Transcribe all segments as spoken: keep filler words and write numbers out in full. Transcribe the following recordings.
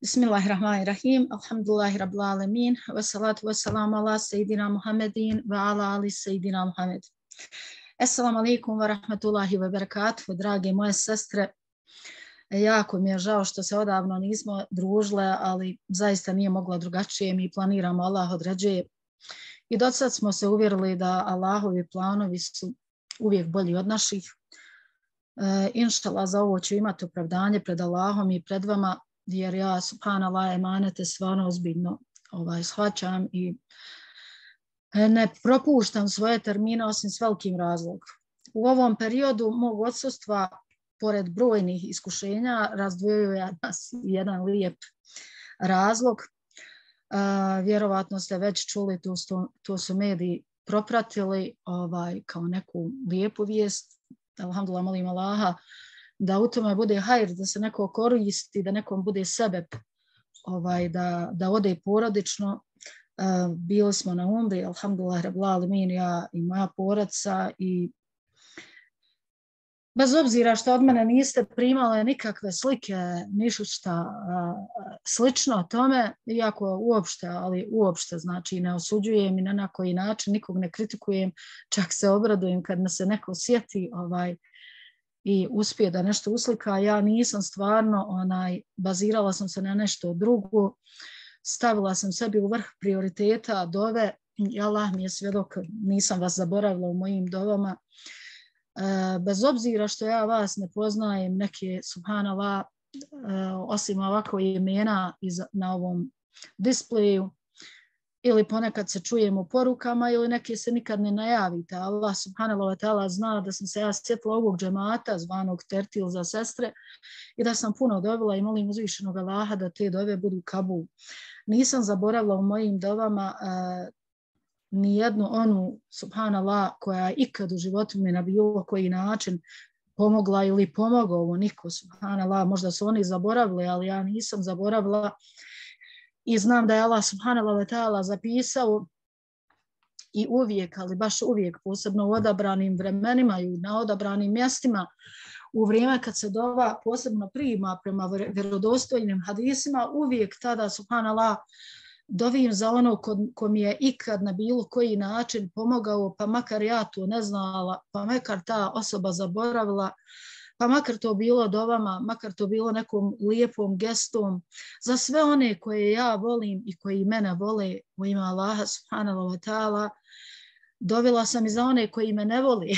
Bismillahirrahmanirrahim. Alhamdulillahi rabbil alamin. Wa salatu wa salamu ala sayyidina Muhammedin wa ala ali sayyidina Muhammed. Assalamu alaikum wa rahmatullahi wa barakatuh. Drage moje sestre, jako mi je žao što se odavno nismo družile, ali zaista nije mogla drugačije. Mi planiramo, Allah određuje. I do sad smo se uvjerili da Allahovi planovi su uvijek bolji od naših. E, inšallah, za ovo ću imati opravdanje pred Allahom i pred vama, jer ja, subhanallah, emanete stvarno ozbiljno ovaj, shvaćam i ne propuštam svoje termine osim s velikim razlogom. U ovom periodu mog odsustva, pored brojnih iskušenja, razdvojio nas jedan lijep razlog. Uh, vjerovatno ste već čuli, to su, to su mediji propratili ovaj, kao neku lijepu vijest. Alhamdulillah, molim Allaha da u tome bude hajr, da se neko koristi, da nekom bude sebeb, ovaj, da, da ode porodično. Uh, bili smo na umri, alhamdulillah, rabbil alamin, ja i moja porodica, i bez obzira što od mene niste primale nikakve slike, ništa šta slično tome, iako uopšte, ali uopšte, znači ne osuđujem i na, na koji način, nikog ne kritikujem, čak se obradujem kad me se neko sjeti ovaj, i uspije da nešto uslika. Ja nisam stvarno, onaj, bazirala sam se na nešto drugo, stavila sam sebi u vrh prioriteta dove, i Allah mi je svjedok, nisam vas zaboravila u mojim dovama. Uh, bez obzira što ja vas ne poznajem, neke, subhanallah, uh, osim ovako imena iz, na ovom displeju, ili ponekad se čujemo u porukama, ili neke se nikad ne najavite. Allah subhanallah wa ta'ala zna da sam se ja sjetila ovog džemata zvanog Tertil za sestre i da sam puno dovila i molim uzvišenog Allaha da te dove budu kabul. Nisam zaboravila u mojim dovama uh, nijednu onu, subhanallah, koja je ikad u životu mi na bilo koji način pomogla ili pomogao ovo niko, subhanallah. Možda su oni zaboravili, ali ja nisam zaboravila i znam da je Allah subhanallah wa ta'ala zapisao i uvijek, ali baš uvijek, posebno u odabranim vremenima i na odabranim mjestima, u vrijeme kad se dova posebno prima prema vjerodostojnim hadisima, uvijek tada, subhanallah, dovim za ono ko, ko mi je ikad na bilo koji način pomogao, pa makar ja to ne znala, pa makar ta osoba zaboravila, pa makar to bilo dovama, makar to bilo nekom lijepom gestom, za sve one koje ja volim i koji mene vole u ime Allaha subhanahu wa ta'ala. Dovila sam i za one koji me ne voli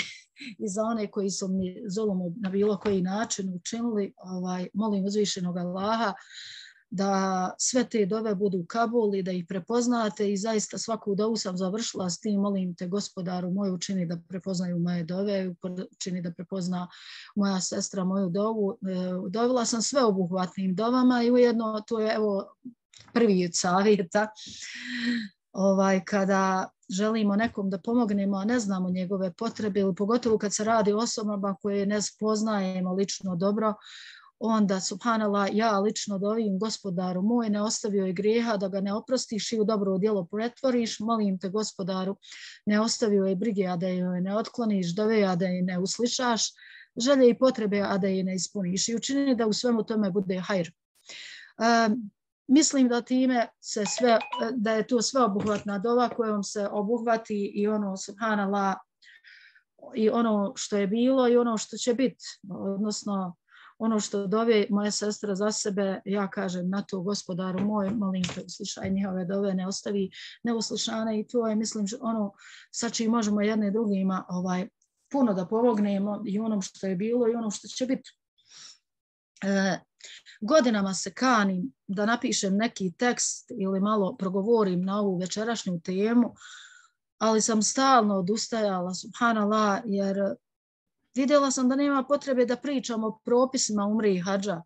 i za one koji su mi zulum na bilo koji način učinili. Ovaj, molim uzvišenog Allaha da sve te dove budu kabul i da ih prepoznate, i zaista svaku dovu sam završila s tim, molim te gospodaru moj, učini da prepoznaju moje dove, učini da prepozna moja sestra moju dovu. Dovila sam sve obuhvatnim dovama i ujedno to je evo prvi od savjeta. Ovaj, kada želimo nekom da pomognemo, a ne znamo njegove potrebe, ili pogotovo kad se radi o osobama koje ne spoznajemo lično dobro, onda, subhanallah, ja lično dovim gospodaru moj, ne ostavio je grijeha da ga ne oprostiš i u dobro djelo pretvoriš. Molim te gospodaru, ne ostavio je brige, a da je ne otkloniš, dove, a da je ne uslišaš, želje i potrebe, a da je ne ispuniš, i učini da u svemu tome bude hajr. Um, mislim da time se sve, da je to sve obuhvatna dova kojom se obuhvati i ono, subhanallah, i ono što je bilo i ono što će biti, odnosno ono što dove moje sestre za sebe, ja kažem na to gospodaru moj, molim te uslišaj njihove dove, ne ostavi neuslišane, i to je, mislim, ono sa čim možemo jedne drugima ovaj, puno da pomognemo i onom što je bilo i ono što će biti. E, godinama se kanim da napišem neki tekst ili malo progovorim na ovu večerašnju temu, ali sam stalno odustajala, subhanallah, jer vidjela sam da nema potrebe da pričam o propisima umre i hadža,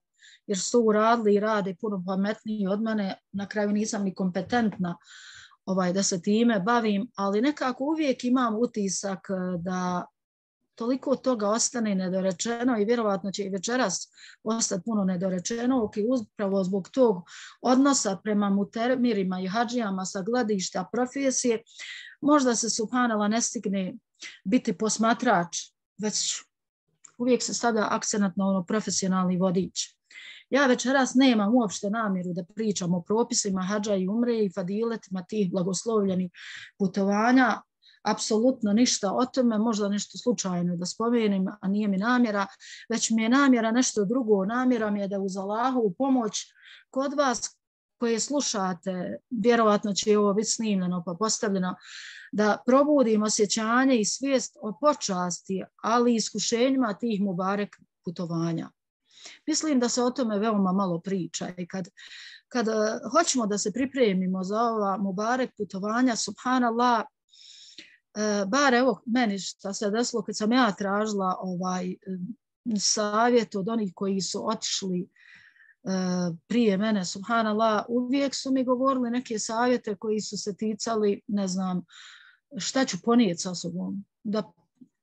jer su to uradili i rade puno pametniji od mene. Na kraju nisam ni kompetentna ovaj, da se time bavim, ali nekako uvijek imam utisak da toliko toga ostane nedorečeno i vjerovatno će i večeras ostati puno nedorečeno, i upravo zbog tog odnosa prema mutemirima i hadžijama sa gledišta profesije, možda se subhanallah ne stigne biti posmatrač, već uvijek se stavlja akcenat na ono profesionalni vodič. Ja večeras nemam uopšte namjeru da pričam o propisima hadža i umre i fadiletima tih blagoslovljenih putovanja, apsolutno ništa o tome, možda nešto slučajno da spomenem, a nije mi namjera, već mi je namjera nešto drugo. Namjera mi je da uz Allahovu pomoć kod vas koje slušate, vjerovatno će ovo biti snimljeno pa postavljeno, da probudim osjećanje i svijest o počasti, ali i iskušenjima tih mubarek putovanja. Mislim da se o tome veoma malo priča i kad, kad hoćemo da se pripremimo za ova mubarek putovanja, subhanallah, e, bar evo meni šta se desilo kad sam ja tražila ovaj savjet od onih koji su otišli Uh, prije mene, subhanallah, uvijek su mi govorili neke savjete koji su se ticali, ne znam, šta ću ponijeti sa sobom, da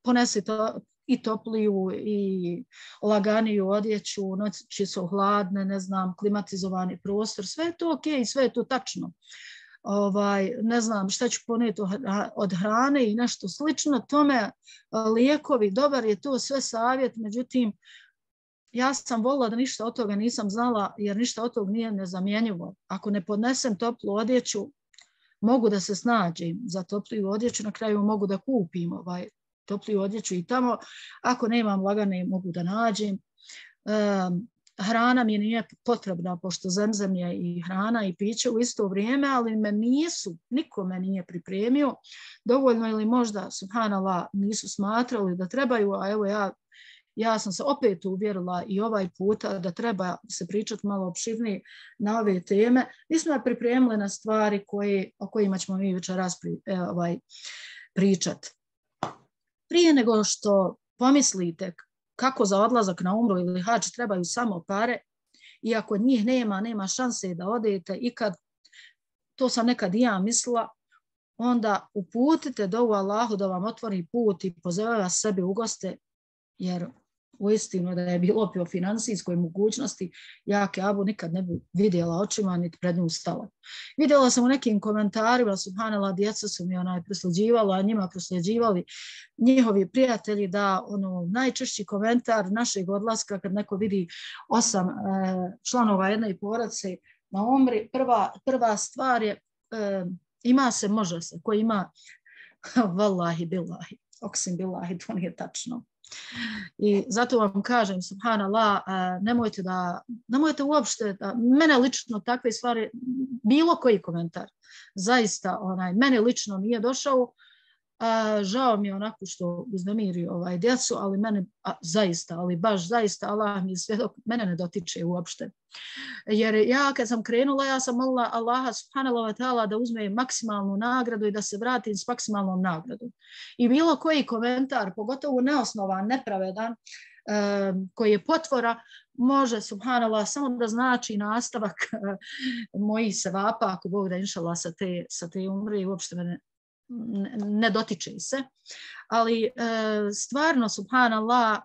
ponesi to, i topliju i laganiju odjeću, noći su hladne, ne znam, klimatizovani prostor, sve je to ok, sve je to tačno. Ovaj, ne znam šta ću ponijeti od hrane i nešto slično tome, lijekovi, dobar je to sve savjet, međutim, ja sam volila da ništa od toga nisam znala, jer ništa od toga nije nezamjenjivo. Ako ne podnesem toplu odjeću, mogu da se snađem za topliju odjeću, na kraju mogu da kupim ovaj, topliju odjeću i tamo. Ako nemam lagane, mogu da nađem. E, hrana mi nije potrebna, pošto zemzem je i hrana i piće u isto vrijeme, ali me nisu, niko me nije pripremio. Dovoljno ili možda, subhanallah, nisu smatrali da trebaju, a evo ja Ja sam se opet uvjerila i ovaj puta da treba se pričati malo opširnije na ove teme. Mi smo pripremili na stvari koje, o kojima ćemo mi večeras pri, eh, ovaj, pričati. Prije nego što pomislite kako za odlazak na umru ili hadž trebaju samo pare, i ako njih nema, nema šanse da odete, i kad, to sam nekad i ja mislila, onda uputite dovu Allahu da vam otvori put i pozove vas sebi u goste, jer uistinu da je bilo po financijskoj mogućnosti, ja Kjabu nikad ne bi vidjela očima, niti pred nju stala. Vidjela sam u nekim komentarima, subhanallah, djeca su mi onaj prosljeđivala, a njima prosljeđivali njihovi prijatelji, da ono, najčešći komentar našeg odlaska, kad neko vidi osam e, članova jedne porodice na umri, prva, prva stvar je e, ima se, može se, ko ima vallahi billahi, oksim billahi, to nije tačno. I zato vam kažem, subhanallah, nemojte da, nemojte uopšte, da, mene lično takve stvari, bilo koji komentar, zaista, onaj, mene lično nije došao, a, žao mi je onako što uznemiri ovaj djecu, ali mene, a, zaista, ali baš zaista, Allah mi je svjedok, mene ne dotiče uopšte. Jer ja kad sam krenula, ja sam molila Allaha subhanahu wa ta'ala da uzme maksimalnu nagradu i da se vratim s maksimalnom nagradom. I bilo koji komentar, pogotovo neosnovan, nepravedan, eh, koji je potvora, može subhanallah samo da znači nastavak eh, mojih sevapa, ako Bog da inšallah sa te, sa te umre i uopšte mene ne, ne dotiče se. Ali eh, stvarno subhanallah,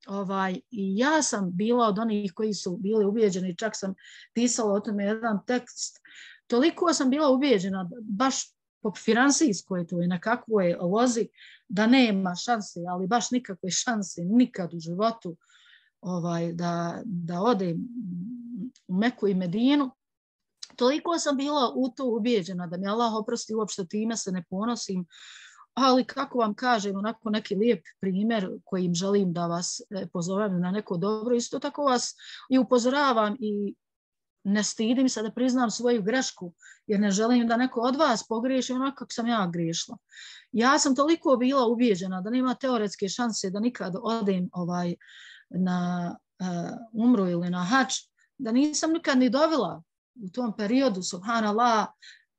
Ovaj, i ja sam bila od onih koji su bili ubijeđeni, čak sam pisala o tome jedan tekst, toliko sam bila ubijeđena, baš po finansijskoj to i na kakvoj lozi, da nema šanse, ali baš nikakve šanse, nikad u životu ovaj, da, da odem u Meku i Medinu. Toliko sam bila u to ubijeđena da mi Allah oprosti, uopšte time se ne ponosim. Ali kako vam kažem, onako neki lijep primjer kojim želim da vas pozovem na neko dobro, isto tako vas i upozoravam i ne stidim se da priznam svoju grešku, jer ne želim da neko od vas pogriješi onako kako sam ja griješila. Ja sam toliko bila ubijeđena da nema teoretske šanse da nikad odem ovaj, na uh, umru ili na hadž, da nisam nikad ni dovela u tom periodu, subhanallah,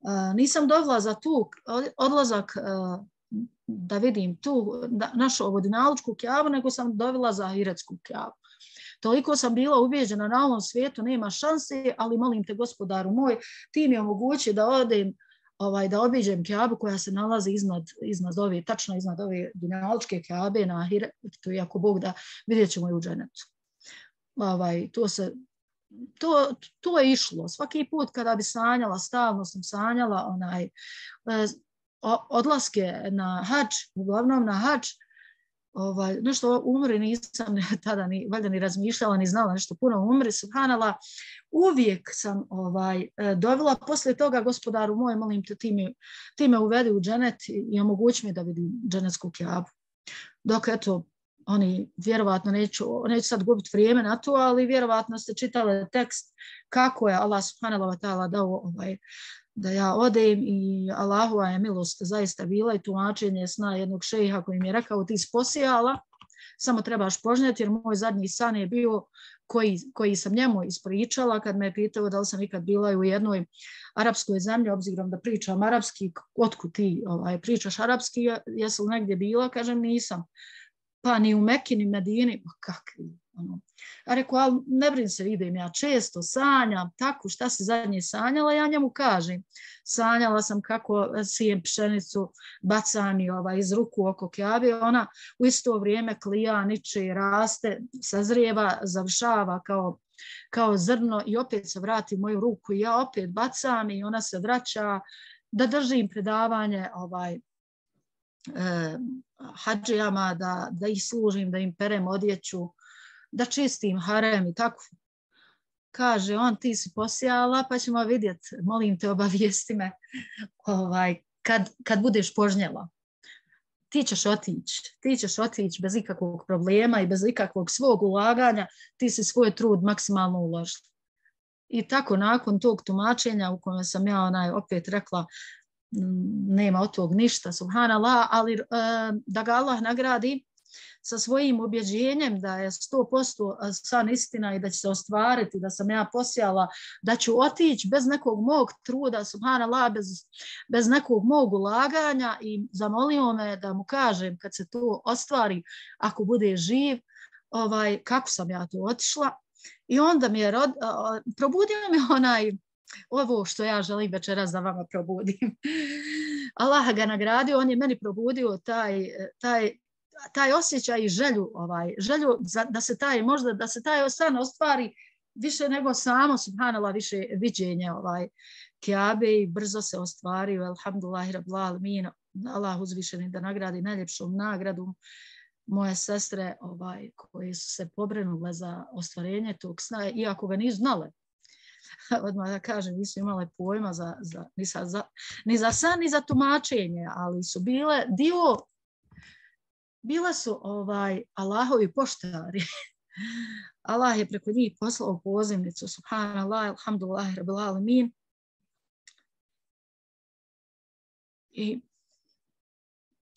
uh, nisam dovela za tu odlazak uh, da vidim tu našu ovodinalučku Kjabu, nego sam dovela za ahiretsku Kjabu. Toliko sam bila ubijeđena na ovom svijetu, nema šanse, ali molim te, gospodaru moj, ti mi omogući da odem, ovaj, da obiđem Kjabu koja se nalazi iznad, iznad ove, tačno iznad ove dunjalučke Kjabe na ahiretu, iako Bog da vidjet ćemo i u dženetu. Ovaj, to se To, to je išlo. Svaki put kada bi sanjala, stalno sam sanjala onaj, odlaske na hadž, uglavnom na hadž, ovaj, nešto umri nisam tada ni, valjda ni razmišljala, ni znala nešto puno umri, subhanallah, uvijek sam ovaj, dovela poslije toga gospodaru moj, molim te, ti me, ti me uvedi u dženet i omogući mi da vidim dženetsku Kjabu. Dok eto, oni vjerovatno, neću, neću sad gubiti vrijeme na to, ali vjerovatno ste čitali tekst kako je Allah subhanahu wa ta'ala dao ovaj, da ja odem i Allahova je milost zaista bila i tumačenje sna jednog šejha koji mi je rekao ti si posijala, samo trebaš požnjeti jer moj zadnji san je bio koji, koji sam njemu ispričala kad me je pitao da li sam ikad bila u jednoj arapskoj zemlji, obzirom da pričam arapski, otkud ti ovaj, pričaš arapski, jesi li negdje bila, kažem nisam. Pa ni u Meki, ni Medini, pa kakvi. Ono. A rekao, ali ne brin se, vidim, ja često sanjam, tako, šta si zadnje sanjala, ja njemu kažem. Sanjala sam kako sijem pšenicu, bacam i ovaj, iz ruku oko Kjabe, ona u isto vrijeme klija, niče, raste, sazrijeva, završava kao, kao zrno i opet se vrati u moju ruku i ja opet bacam i ona se vraća da držim predavanje ovaj, eh, hadžijama, da, da ih služim, da im perem odjeću, da čistim harem i tako. Kaže on, ti si posijala, pa ćemo vidjeti, molim te, obavijesti me ovaj, kad, kad budeš požnjela. Ti ćeš otići, ti ćeš otići bez ikakvog problema i bez ikakvog svog ulaganja, ti si svoj trud maksimalno uložila. I tako nakon tog tumačenja u kojem sam ja onaj opet rekla, nema od tog ništa, subhanallah, ali uh, da ga Allah nagradi sa svojim ubjeđenjem da je sto posto san istina i da će se ostvariti, da sam ja posijala, da ću otići bez nekog mog truda, subhanallah, bez, bez nekog mog ulaganja i zamolio me da mu kažem kad se to ostvari, ako bude živ, ovaj, kako sam ja to otišla. I onda mi je rod, uh, probudio mi onaj ovo što ja želim večeras da vama probudim. Allah ga nagradio, on je meni probudio taj, taj, taj osjećaj i želju, ovaj, želju za, da se taj, možda da se taj san ostvari više nego samo, subhanallah, više viđenje ovaj, Kjabe i brzo se ostvario, alhamdulillahi rabbil alamin, Allah uzvišeni da nagradi najljepšom nagradom moje sestre ovaj, koje su se pobrinule za ostvarenje tog sna, iako ga nisu znale. Odmah da kažem, nisu imale pojma za, za, ni, za, za, ni za san, ni za tumačenje, ali su bile dio, bile su ovaj, Allahovi poštari. Allah je preko njih poslao pozivnicu, subhanallah, alhamdulillah, rabbil alamin. I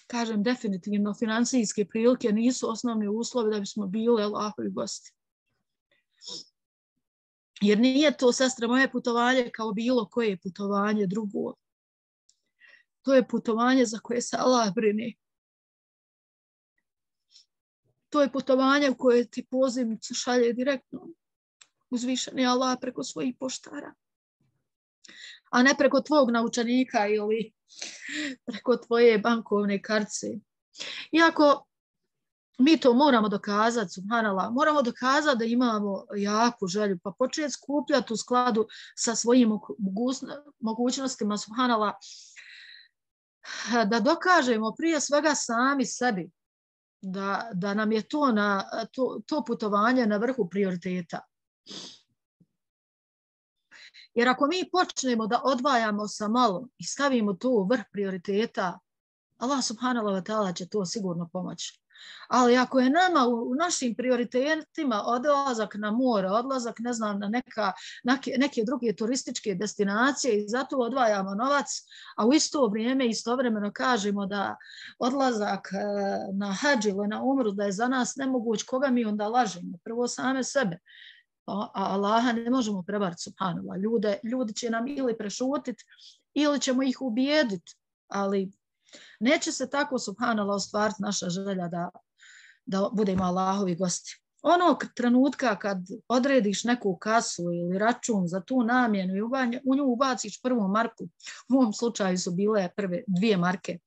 kažem, definitivno, financijske prilike nisu osnovni uslovi da bismo bili Allahovi gosti. Jer nije to, sestra, moje putovanje kao bilo koje putovanje drugo. To je putovanje za koje se Allah brine. To je putovanje u koje ti pozivnicu šalje direktno uzvišeni Allah preko svojih poštara. A ne preko tvog naučenika ili preko tvoje bankovne kartice. Iako mi to moramo dokazati, subhanallah, moramo dokazati da imamo jaku želju, pa početi skupljati u skladu sa svojim mogućnostima, subhanallah, da dokažemo prije svega sami sebi, da, da nam je to, na, to, to putovanje na vrhu prioriteta. Jer ako mi počnemo da odvajamo sa malo i stavimo to u vrh prioriteta, Allah subhanahu wa ta'ala će to sigurno pomoći. Ali ako je nama u našim prioritetima odlazak na more, odlazak ne znam, na neka, neke, neke druge turističke destinacije i zato odvajamo novac, a u isto vrijeme istovremeno kažemo da odlazak na hadž ili na umru da je za nas nemoguć, koga mi onda lažemo? Prvo same sebe. A Allaha ne možemo prevariti, subhanallah. Ljude, ljudi će nam ili prešutiti ili ćemo ih ubijediti, ali neće se tako, subhanallah, ostvariti naša želja da, da budemo Allahovi gosti. Onog trenutka kad odrediš neku kasu ili račun za tu namjenu i u nju ubaciš prvu marku, u ovom slučaju su bile prve dvije marke,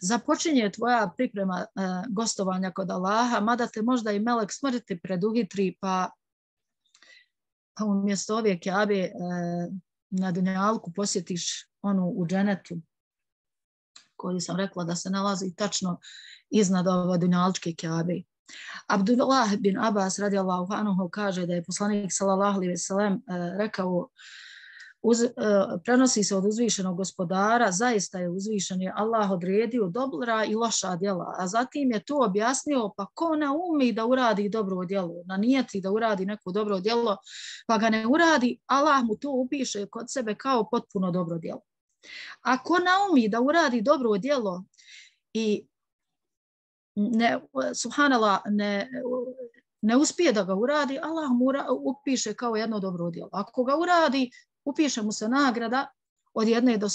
započinje tvoja priprema uh, gostovanja kod Allaha, mada te možda i melek smrti preduhitri, pa, pa umjesto ove Kjabe uh, na dunjalku posjetiš onu u dženetu, koji sam rekla da se nalazi tačno iznad ove dunjalučke Kjabe. Abdullah bin Abbas radijallahu anhu kaže da je poslanik sallallahu alejhi ve sellem rekao, uz, prenosi se od uzvišenog gospodara, zaista je uzvišen je Allah odredio dobra i loša djela, a zatim je to objasnio, pa ko ne umi da uradi dobro djelo, na nijeti da uradi neko dobro djelo, pa ga ne uradi, Allah mu to upiše kod sebe kao potpuno dobro djelo. Ako naumi da uradi dobro djelo i ne, subhanallah, ne, ne uspije da ga uradi, Allah mu upiše kao jedno dobro djelo. Ako ga uradi, upiše mu se nagrada od jedne do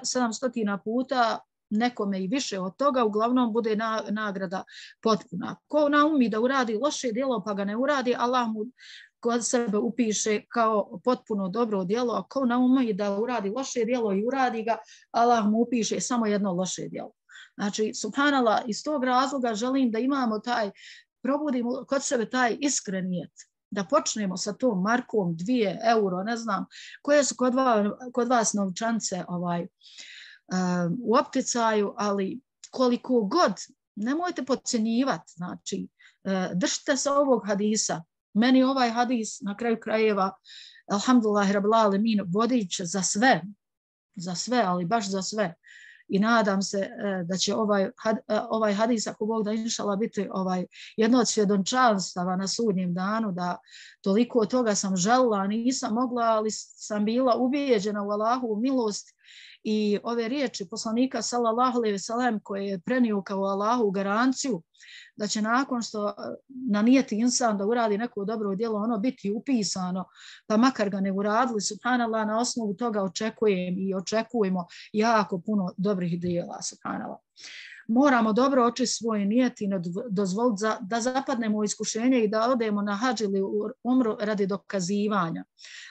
sedamstotina puta, nekome i više od toga, uglavnom bude na, nagrada potpuna. Ko naumi da uradi loše djelo pa ga ne uradi, Allah mu kod sebe upiše kao potpuno dobro djelo, a ko naumi da uradi loše djelo i uradi ga, Allah mu upiše samo jedno loše djelo. Znači, subhanallah, iz tog razloga želim da imamo taj, probudimo kod sebe taj iskren nijet, da počnemo sa tom markom, dvije euro, ne znam, koje su kod vas, kod vas novčance ovaj, um, u opticaju, ali koliko god, nemojte podcjenjivati, znači, uh, držite se ovog hadisa. Meni ovaj hadis na kraju krajeva, alhamdulillah, rabbil alemin, vodič za sve, za sve, ali baš za sve. I nadam se da će ovaj, ovaj hadis, ako Bog da inšala, biti ovaj, jedno od svjedočanstava na sudnjem danu, da toliko od toga sam želila, nisam mogla, ali sam bila ubijeđena u Allahovu milost i ove riječi poslanika sallallahu alejhi ve sellem koje je prenio kao Allahovu garanciju da će nakon što na nijeti insan da uradi neko dobro djelo, ono biti upisano, pa makar ga ne uradili, subhanallah, na osnovu toga očekujem i očekujemo jako puno dobrih djela, subhanallah. Moramo dobro očistiti svoj nijet i dozvoliti za, da zapadnemo u iskušenje i da odemo na hadž ili umru radi dokazivanja,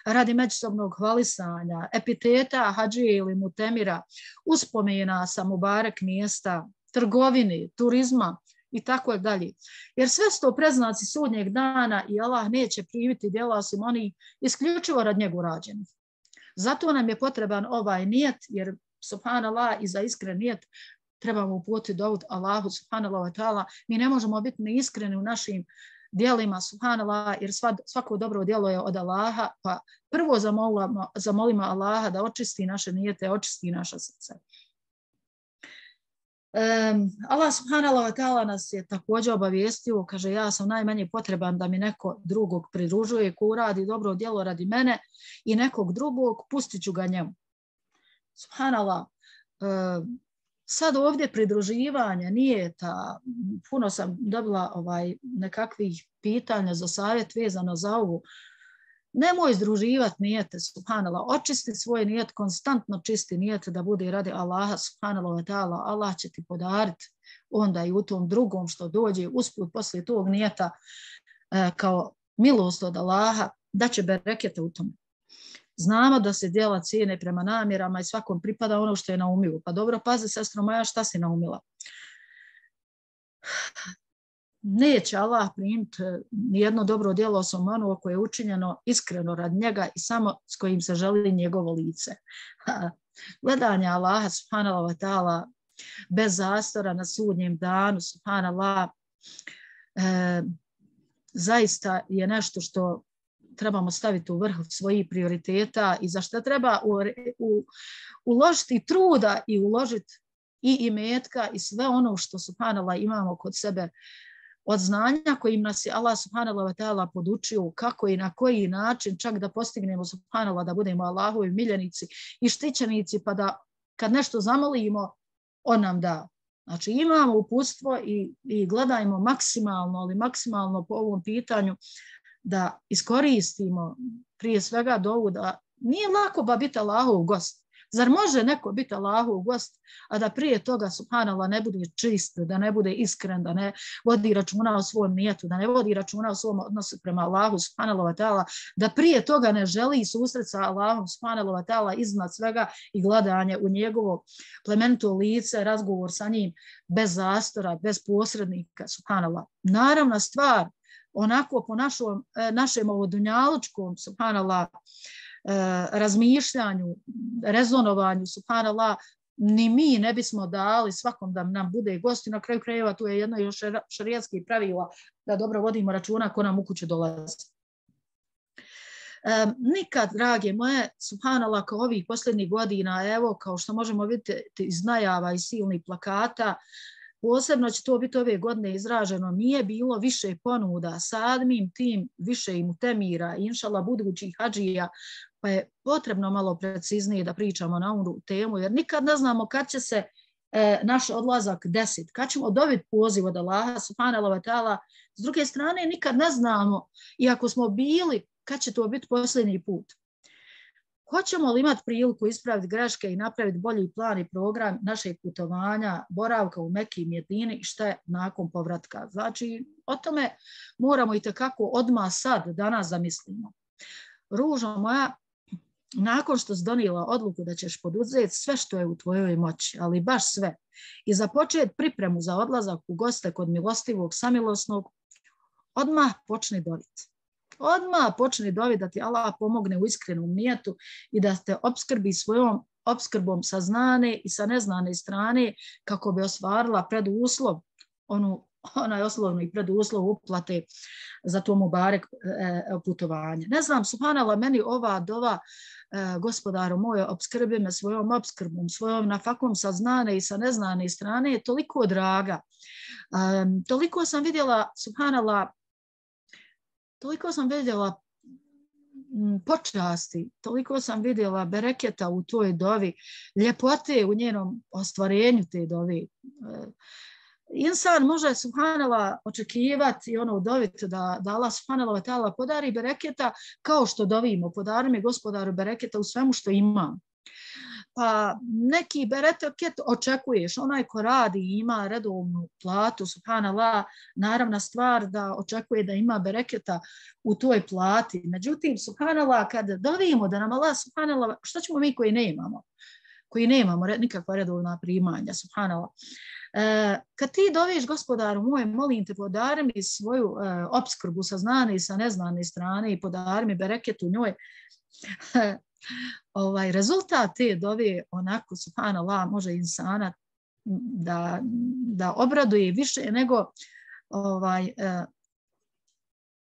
radi međusobnog hvalisanja, epiteta hadžije ili mutemira, uspomena sa mubarek mjesta, trgovine, turizma i tako dalje. Jer sve su to preznaci sudnjeg dana i Allah neće primiti djela osim oni isključivo rad njegu rađenih. Zato nam je potreban ovaj nijet, jer subhanallah i za iskren nijet trebamo uputiti dovu Allahu subhanallah wa ta'ala. Mi ne možemo biti neiskreni u našim djelima subhanallah, jer svako dobro djelo je od Allaha, pa prvo zamolimo, zamolimo Allaha da očisti naše nijete, očisti naša srca. Um, Allah subhanallah wa ta'ala nas je također obavijestio, kaže, ja sam najmanje potreban da mi neko drugog pridružuje, ko uradi dobro djelo radi mene i nekog drugog, pustit ću ga njemu. Subhanallah, um, sad ovdje pridruživanja nije ta, puno sam dobila ovaj, nekakvih pitanja za savjet vezano za ovu. Nemoj združivati nijete, subhanallah, očisti svoj nijet, konstantno čisti nijet da bude radi Allaha, subhanallah wa ta'ala, Allah će ti podariti onda i u tom drugom što dođe usput poslije tog nijeta e, kao milost od Allaha, da će berekete u tome. Znamo da se djela cijene prema namjerama i svakom pripada ono što je naumio. Pa dobro, pazi, sestro moja, šta si naumila? Neće Allah primiti nijedno dobro djelo osim ono koje je učinjeno iskreno rad njega i samo s kojim se želi njegovo lice. Gledanje Allaha, subhanallah wa ta'ala, bez zastora na sudnjem danu, subhanallah, e, zaista je nešto što trebamo staviti u vrh svojih prioriteta i za što treba u, u, uložiti truda i uložiti i imetka i sve ono što subhanallah imamo kod sebe od znanja kojim nas je Allah subhanallah wa ta'ala podučio kako i na koji način čak da postignemo subhanallah da budemo Allahovi miljenici i štićenici, pa da kad nešto zamolimo on nam da. Znači imamo uputstvo i, i gledajmo maksimalno, ali maksimalno po ovom pitanju da iskoristimo prije svega dovu da nije lako ba biti Allahov gost. Zar može neko biti Allahov gost, a da prije toga subhanallah ne bude čist, da ne bude iskren, da ne vodi računa o svom nijetu, da ne vodi računa o svom odnosu prema Allahu subhanallah wa ta'ala, da prije toga ne želi susret sa Allahom subhanallah wa ta'ala iznad svega i gledanje u njegovo plemenito lice, razgovor sa njim bez zastora, bez posrednika subhanallah. Naravna stvar, onako po našom, našem ovodunjalučkom subhanallah razmišljanju, rezonovanju, subhanallah, ni mi ne bismo dali svakom da nam bude gost i na kraju krajeva tu je jedno još šerijatskih pravila da dobro vodimo računa ko nam u kuću dolazi. Um, nikad, drage moje, subhanallah, kao ovih posljednjih godina, evo, kao što možemo vidjeti iz najava i silnih plakata, posebno će to biti ove godine izraženo, nije bilo više ponuda, samim tim više i mutemira, inšallah budućih hadžija, pa je potrebno malo preciznije da pričamo na ovu temu, jer nikad ne znamo kad će se e, naš odlazak desiti, kad ćemo dobiti poziv od Allaha, subhanahu wa ta'ala. S druge strane, nikad ne znamo, iako smo bili, kad će to biti posljednji put. Hoćemo li imati priliku ispraviti greške i napraviti bolji plan i program našeg putovanja, boravka u Meki i Medini i šta je nakon povratka. Znači, o tome moramo i tekako odmah sad, danas zamislimo. Ružo moja, nakon što si donijela odluku da ćeš poduzeti sve što je u tvojoj moći, ali baš sve, i započeti pripremu za odlazak u goste kod milostivog, samilosnog, odmah počni doviti. Odmah počni doviti da ti Allah pomogne u iskrenom nijetu i da te opskrbi svojom opskrbom sa znane i sa neznane strane kako bi ostvarila preduslov, onu, onaj oslovni preduslov uplate za to mubarek e, putovanje. Ne znam, subhanallah, meni ova dova, e, gospodaru moje, opskrbi me svojom opskrbom, svojom nafakom sa znane i sa neznane strane je toliko draga. E, toliko sam vidjela, subhanallah, Toliko sam vidjela počasti, toliko sam vidjela bereketa u toj dovi, ljepote u njenom ostvarenju te dovi. Insan može, subhanallah, očekivati i ono doviti da, da Allah subhanallah wa ta'ala podari bereketa kao što dovimo, podari mi gospodaru bereketa u svemu što imam. Pa neki bereket očekuješ, onaj ko radi i ima redovnu platu, subhanallah, naravna stvar da očekuje da ima bereketa u toj plati. Međutim, subhanallah, kad dovimo da nam Allah, subhanallah, što ćemo mi koji ne imamo? Koji ne imamo nikakva redovna primanja, subhanallah. E, kad ti doviš, gospodaru moj, molim te, podari mi svoju e, opskrbu sa znane i sa neznane strane i podari mi bereket u njoj. Ovaj, rezultat te dove onako, subhanallah, može insana da, da obraduje više nego ovaj, eh,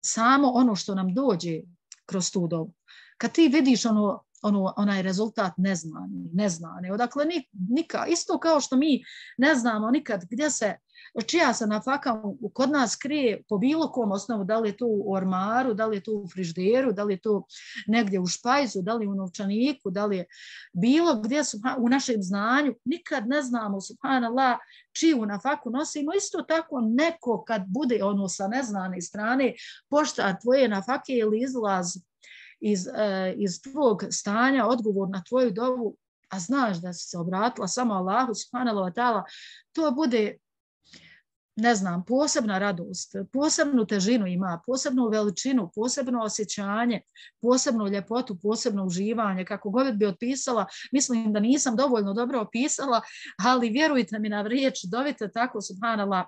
samo ono što nam dođe kroz tu dobu. Kad ti vidiš ono, ono, onaj rezultat neznani, neznani, odakle nika, isto kao što mi ne znamo nikad gdje se, čija se nafaka kod nas krije po bilo kom osnovu, da li je to u ormaru, da li je to u frižderu, da li je to negdje u špajzu, da li je u novčaniku, da li je bilo gdje su u našem znanju, nikad ne znamo, subhanallah, čiju nafaku nosimo. Isto tako neko kad bude ono sa neznane strane, pošta tvoje nafake ili izlaz iz, eh, iz tvog stanja, odgovor na tvoju dovu, a znaš da si se obratila samo Allahu subhanahu wa ta'ala, to bude, ne znam, posebna radost, posebnu težinu ima, posebnu veličinu, posebno osjećanje, posebnu ljepotu, posebno uživanje, kako god bi opisala, mislim da nisam dovoljno dobro opisala, ali vjerujte mi na riječ, dovite tako, subhanallah,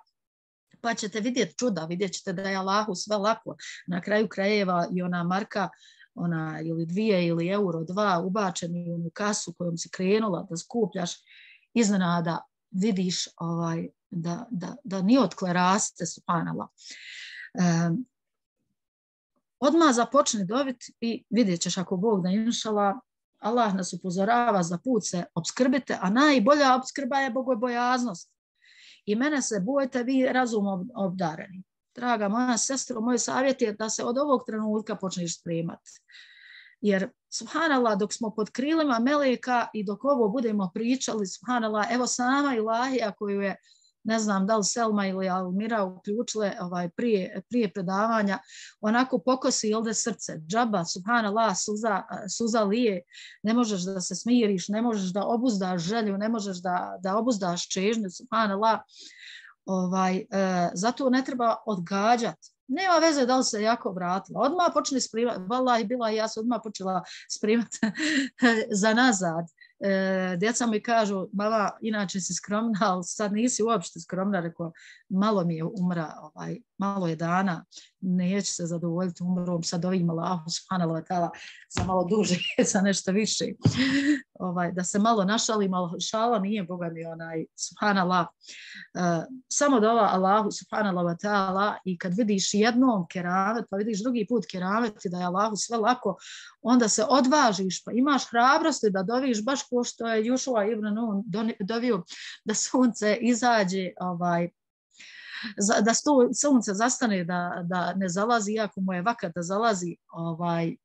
pa ćete vidjeti čuda, vidjet ćete da je Allahu sve lako. Na kraju krajeva i ona marka, ona ili dvije ili euro dva ubačeni u onu kasu kojom si krenula da skupljaš, iznenada vidiš ovaj, da, da, da ni otkle raste, subhanallah. Um, odmah započni doviti i vidjet ćeš ako Bog da inšallah, Allah nas upozorava za put se obskrbite, a najbolja obskrba je bogobojaznost. I mene se bojte vi razumom obdareni. Draga moja sestro, moj savjet je da se od ovog trenutka počneš spremati. Jer, subhanallah, dok smo pod krilima meleka i dok ovo budemo pričali, subhanallah, evo sama ilahija koju je, ne znam da li Selma ili Almira uključile ovaj, prije, prije predavanja, onako pokosi ovdje srce, džaba, subhanallah, suza, suza lije, ne možeš da se smiriš, ne možeš da obuzdaš želju, ne možeš da, da obuzdaš čežnju, subhanallah, ovaj, e, zato ne treba odgađati. Nema veze da li se jako vratila. Odmah počne spremati, vallahi bila i ja sam odmah počela spremati za nazad. E, djeca mi kažu, mama, inače si skromna, ali sad nisi uopšte skromna, rekao, malo mi je umra ovaj, malo je dana, neće se zadovoljiti umrom, sad ovim Allahu subhanahu wa ta'ala za malo duže, za nešto više. Ovaj, da se malo našali, malo šala nije, Boga mi onaj, subhanallah. Uh, samo dova Allahu subhanahu wa ta'ala i kad vidiš jednom keramet, pa vidiš drugi put keramet i da je Allahu sve lako, onda se odvažiš, pa imaš hrabrosti da doviš baš ko što je Jušua ibn Nun dovio da sunce izađe, ovaj, da sunce zastane, da, da ne zalazi, iako mu je vakat da zalazi. Ovaj, e,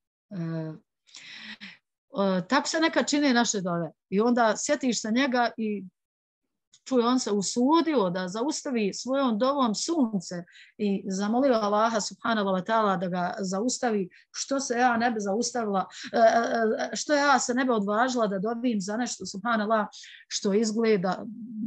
e, tako se neka čine naše dove. I onda sjetiš se njega i čuje, on se usudio da zaustavi svojom dovom sunce i zamolio Allaha subhanahu wa ta'ala da ga zaustavi, što se ja ne bi zaustavila, što ja se ne bi odvažila da dobim za nešto subhanallah što izgleda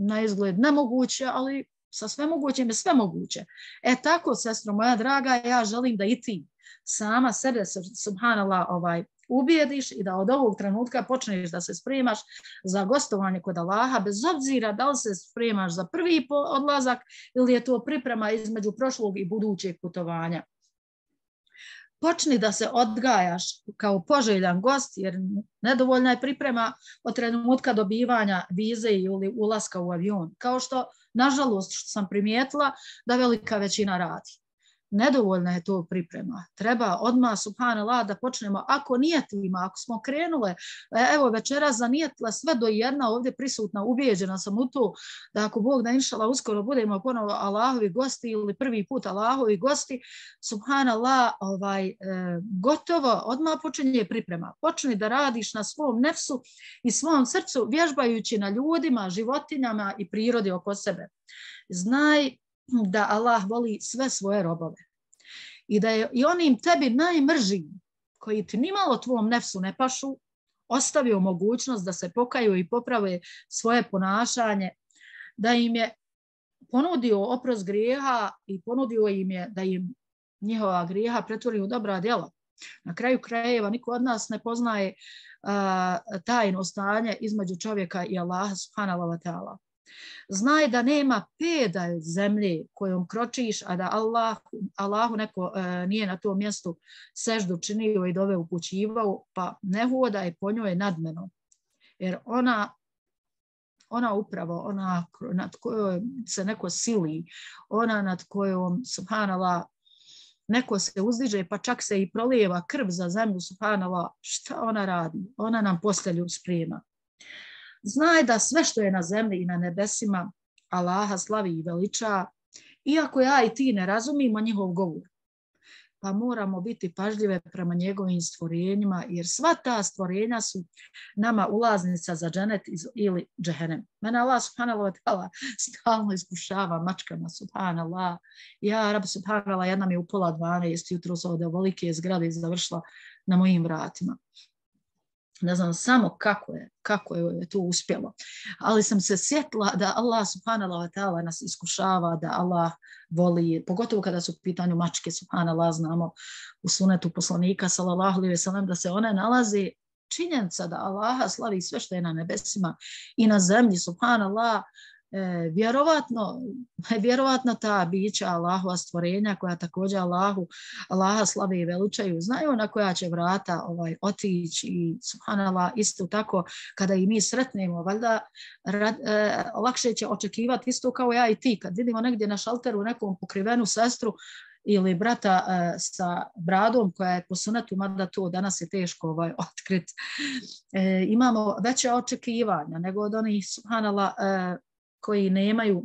na izgled nemoguće, ali sa sve mogućim je sve moguće. E tako, sestro moja draga, ja želim da i ti sama sebe subhanallah ovaj ubijediš i da od ovog trenutka počneš da se spremaš za gostovanje kod Allaha, bez obzira da li se spremaš za prvi odlazak ili je to priprema između prošlog i budućeg putovanja. Počni da se odgajaš kao poželjan gost, jer nedovoljna je priprema od trenutka dobivanja vize ili ulaska u avion. Kao što, nažalost, što sam primijetila da velika većina radi. Nedovoljna je to priprema. Treba odmah, subhanallah, da počnemo, ako nijetimo, ako smo krenule, evo večera zanijetila sve do jedna ovdje prisutna, ubijeđena sam u to, da ako Bog da inšala uskoro budemo ponovo Allahovi gosti ili prvi put Allahovi gosti, subhanallah, ovaj, e, gotovo, odmah počinje priprema. Počni da radiš na svom nefsu i svom srcu, vježbajući na ljudima, životinjama i prirodi oko sebe. Znaj da Allah voli sve svoje robove i da je i onim tebi najmržim koji ti nimalo tvom nefsu ne pašu ostavio mogućnost da se pokaju i poprave svoje ponašanje, da im je ponudio oprost grijeha i ponudio im je da im njihova grijeha pretvori u dobra djela. Na kraju krajeva niko od nas ne poznaje uh, tajno stanje između čovjeka i Allaha subhanahu wa ta'ala. Znaj da nema peda zemlje kojom kročiš, a da Allah, Allahu neko e, nije na tom mjestu seždu činio i dove upućivao, pa ne hodaj po njoj nadmeno. Jer ona, ona upravo, ona nad kojom se neko sili, ona nad kojom, subhanallah, neko se uzdiže, pa čak se i prolijeva krv za zemlju, subhanallah, šta ona radi? Ona nam postelju sprema. Znaj da sve što je na zemlji i na nebesima Allaha slavi i veliča, iako ja i ti ne razumimo njihov govor. Pa moramo biti pažljive prema njegovim stvorenjima, jer sva ta stvorenja su nama ulaznica za dženet ili džehennem. Mene Allah subhanahu wa ta'ala stalno iskušava mačkama, subhanallah. Ja, rab subhanallah, jedna mi je u pola dvanaest jutro sa ovdje velike zgrade završila na mojim vratima. Ne znam samo kako je, kako je to uspjelo. Ali sam se sjetila da Allah subhanahu wa ta'ala nas iskušava, da Allah voli, pogotovo kada su u pitanju mačke, subhanallah, znamo u sunetu poslanika, sallallahu alejhi ve sellem, da se one nalaze činjenica da Allaha slavi sve što je na nebesima i na zemlji, subhanallah. E, vjerovatno, vjerovatno ta bića Allahova stvorenja koja također Allahu, Allaha slave i veličaju, znaju na koja će vrata ovaj, otići i subhanallah isto tako kada i mi sretnemo, valjda rad, e, lakše će očekivati isto kao ja i ti kad vidimo negdje na šalteru nekom pokrivenu sestru ili brata e, sa bradom koja je po sunetu, mada to danas je teško ovaj, otkriti. E, imamo veće očekivanja nego od onih subhanallah e, koji nemaju,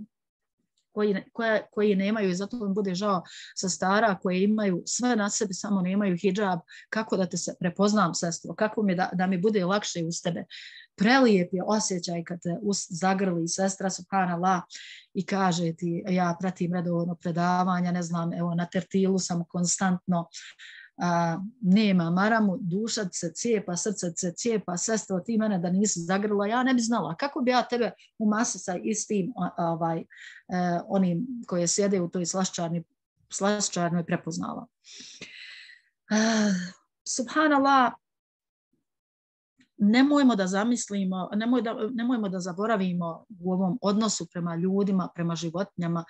koji, koje, koji nemaju i zato im bude žao sa stara koje imaju sve na sebi, samo nemaju hidžab. Kako da te se prepoznam, sestro, kako mi da, da mi bude lakše uz tebe. Prelijep je osjećaj kad te zagrli sestra, subhanallah, i kaže ti, ja pratim redovno predavanja, ne znam, evo na tertilu sam konstantno, a, nema maramu, duša se cijepa, srce se cijepa, sestro, ti mene da nisi zagrla, ja ne bi znala. Kako bi ja tebe u masi sa istim ovaj, eh, onim koje sjede u toj slaščarni, slaščarnoj prepoznala. Uh, subhanallah, nemojmo da zamislimo, nemoj da, nemojmo da zaboravimo u ovom odnosu prema ljudima, prema životinjama,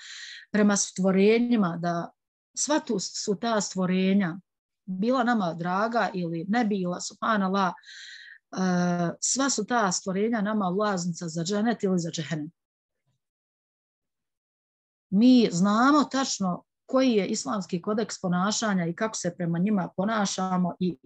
prema stvorenjima, da sva tu su ta stvorenja, bila nama draga ili ne bila, subhanallah, uh, sva su ta stvorenja nama ulaznica za dženet ili za džehennem. Mi znamo tačno koji je islamski kodeks ponašanja i kako se prema njima ponašamo i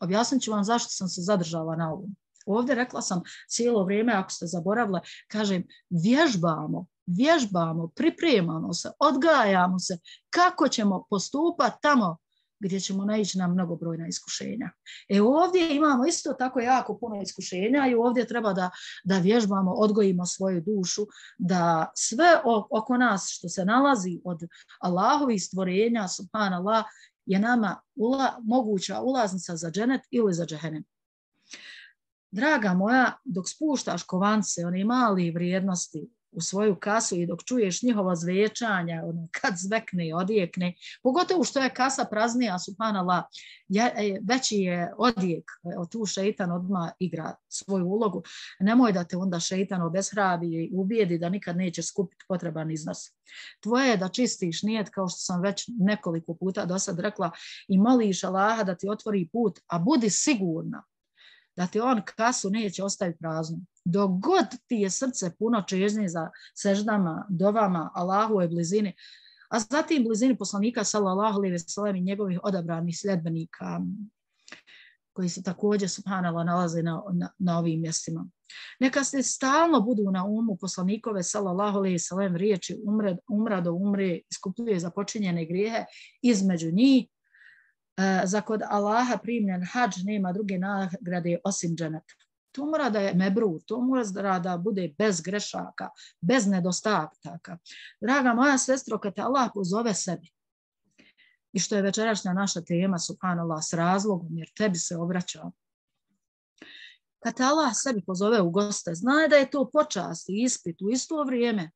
objasnit ću vam zašto sam se zadržala na ovom. Ovdje rekla sam cijelo vrijeme, ako ste zaboravile, kažem, vježbamo, vježbamo, pripremamo se, odgajamo se, kako ćemo postupati tamo gdje ćemo naići na mnogobrojna iskušenja. E ovdje imamo isto tako jako puno iskušenja i ovdje treba da, da vježbamo, odgojimo svoju dušu, da sve oko nas što se nalazi od Allahovih stvorenja, subhanallah, je nama ula, moguća ulaznica za dženet ili za džehennem. Draga moja, dok spuštaš kovance, one mali vrijednosti u svoju kasu i dok čuješ njihovo zvećanje, ono, kad zvekne, odjekne, pogotovo što je kasa praznija, subhanallah, veći je odjek, tu šeitan odmah igra svoju ulogu. Nemoj da te onda šeitan obeshrabi i ubijedi da nikad nećeš skupiti potreban iznos. Tvoje je da čistiš nijet, kao što sam već nekoliko puta do sad rekla, i moliš Allaha da ti otvori put, a budi sigurna da ti on kasu neće ostaviti praznu. Dok god ti je srce puno čežnje za seždama, dovama, Allahove blizini, a zatim blizini poslanika sallallahu alejhi ve sellem i njegovih odabranih sljedbenika koji se također subhanallah nalaze na, na, na ovim mjestima. Neka se stalno budu na umu poslanikove sallallahu alejhi ve sellem riječi umre, umra do umre, iskupljuje za počinjene grijehe, između njih za kod Allaha primljen hadž nema druge nagrade osim dženeta. To mora da je mebrur, to mora da bude bez grešaka, bez nedostataka. Draga moja sestro, kad te Allah pozove sebi, i što je večerašnja naša tema, subhanallah, s razlogom, jer tebi se obraća, kad te Allah sebi pozove u goste, znaj da je to počast i ispit u isto vrijeme.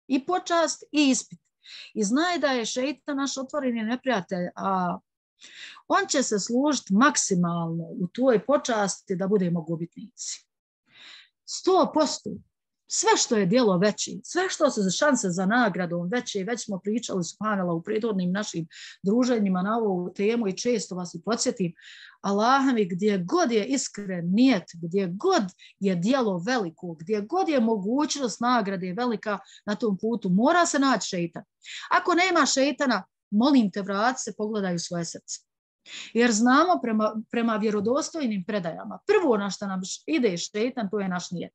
I počast i ispit. I znaj da je šeitan naš otvoreni neprijatelj, a on će se služiti maksimalno u tvojoj počasti da budemo gubitnici. sto posto. Sve što je djelo veći, sve što se šanse za nagradom veće, već smo pričali subhanallah u prethodnim našim druženjima na ovu temu i često vas i podsjetim, Allah mi gdje god je iskren nijet, gdje god je djelo veliko, gdje god je mogućnost nagrade velika na tom putu, mora se naći šeitan. Ako nema šeitana, molim te, vrati se, pogledaj u svoje srce. Jer znamo prema, prema vjerodostojnim predajama, prvo na što nam ide šeitan, to je naš nijet.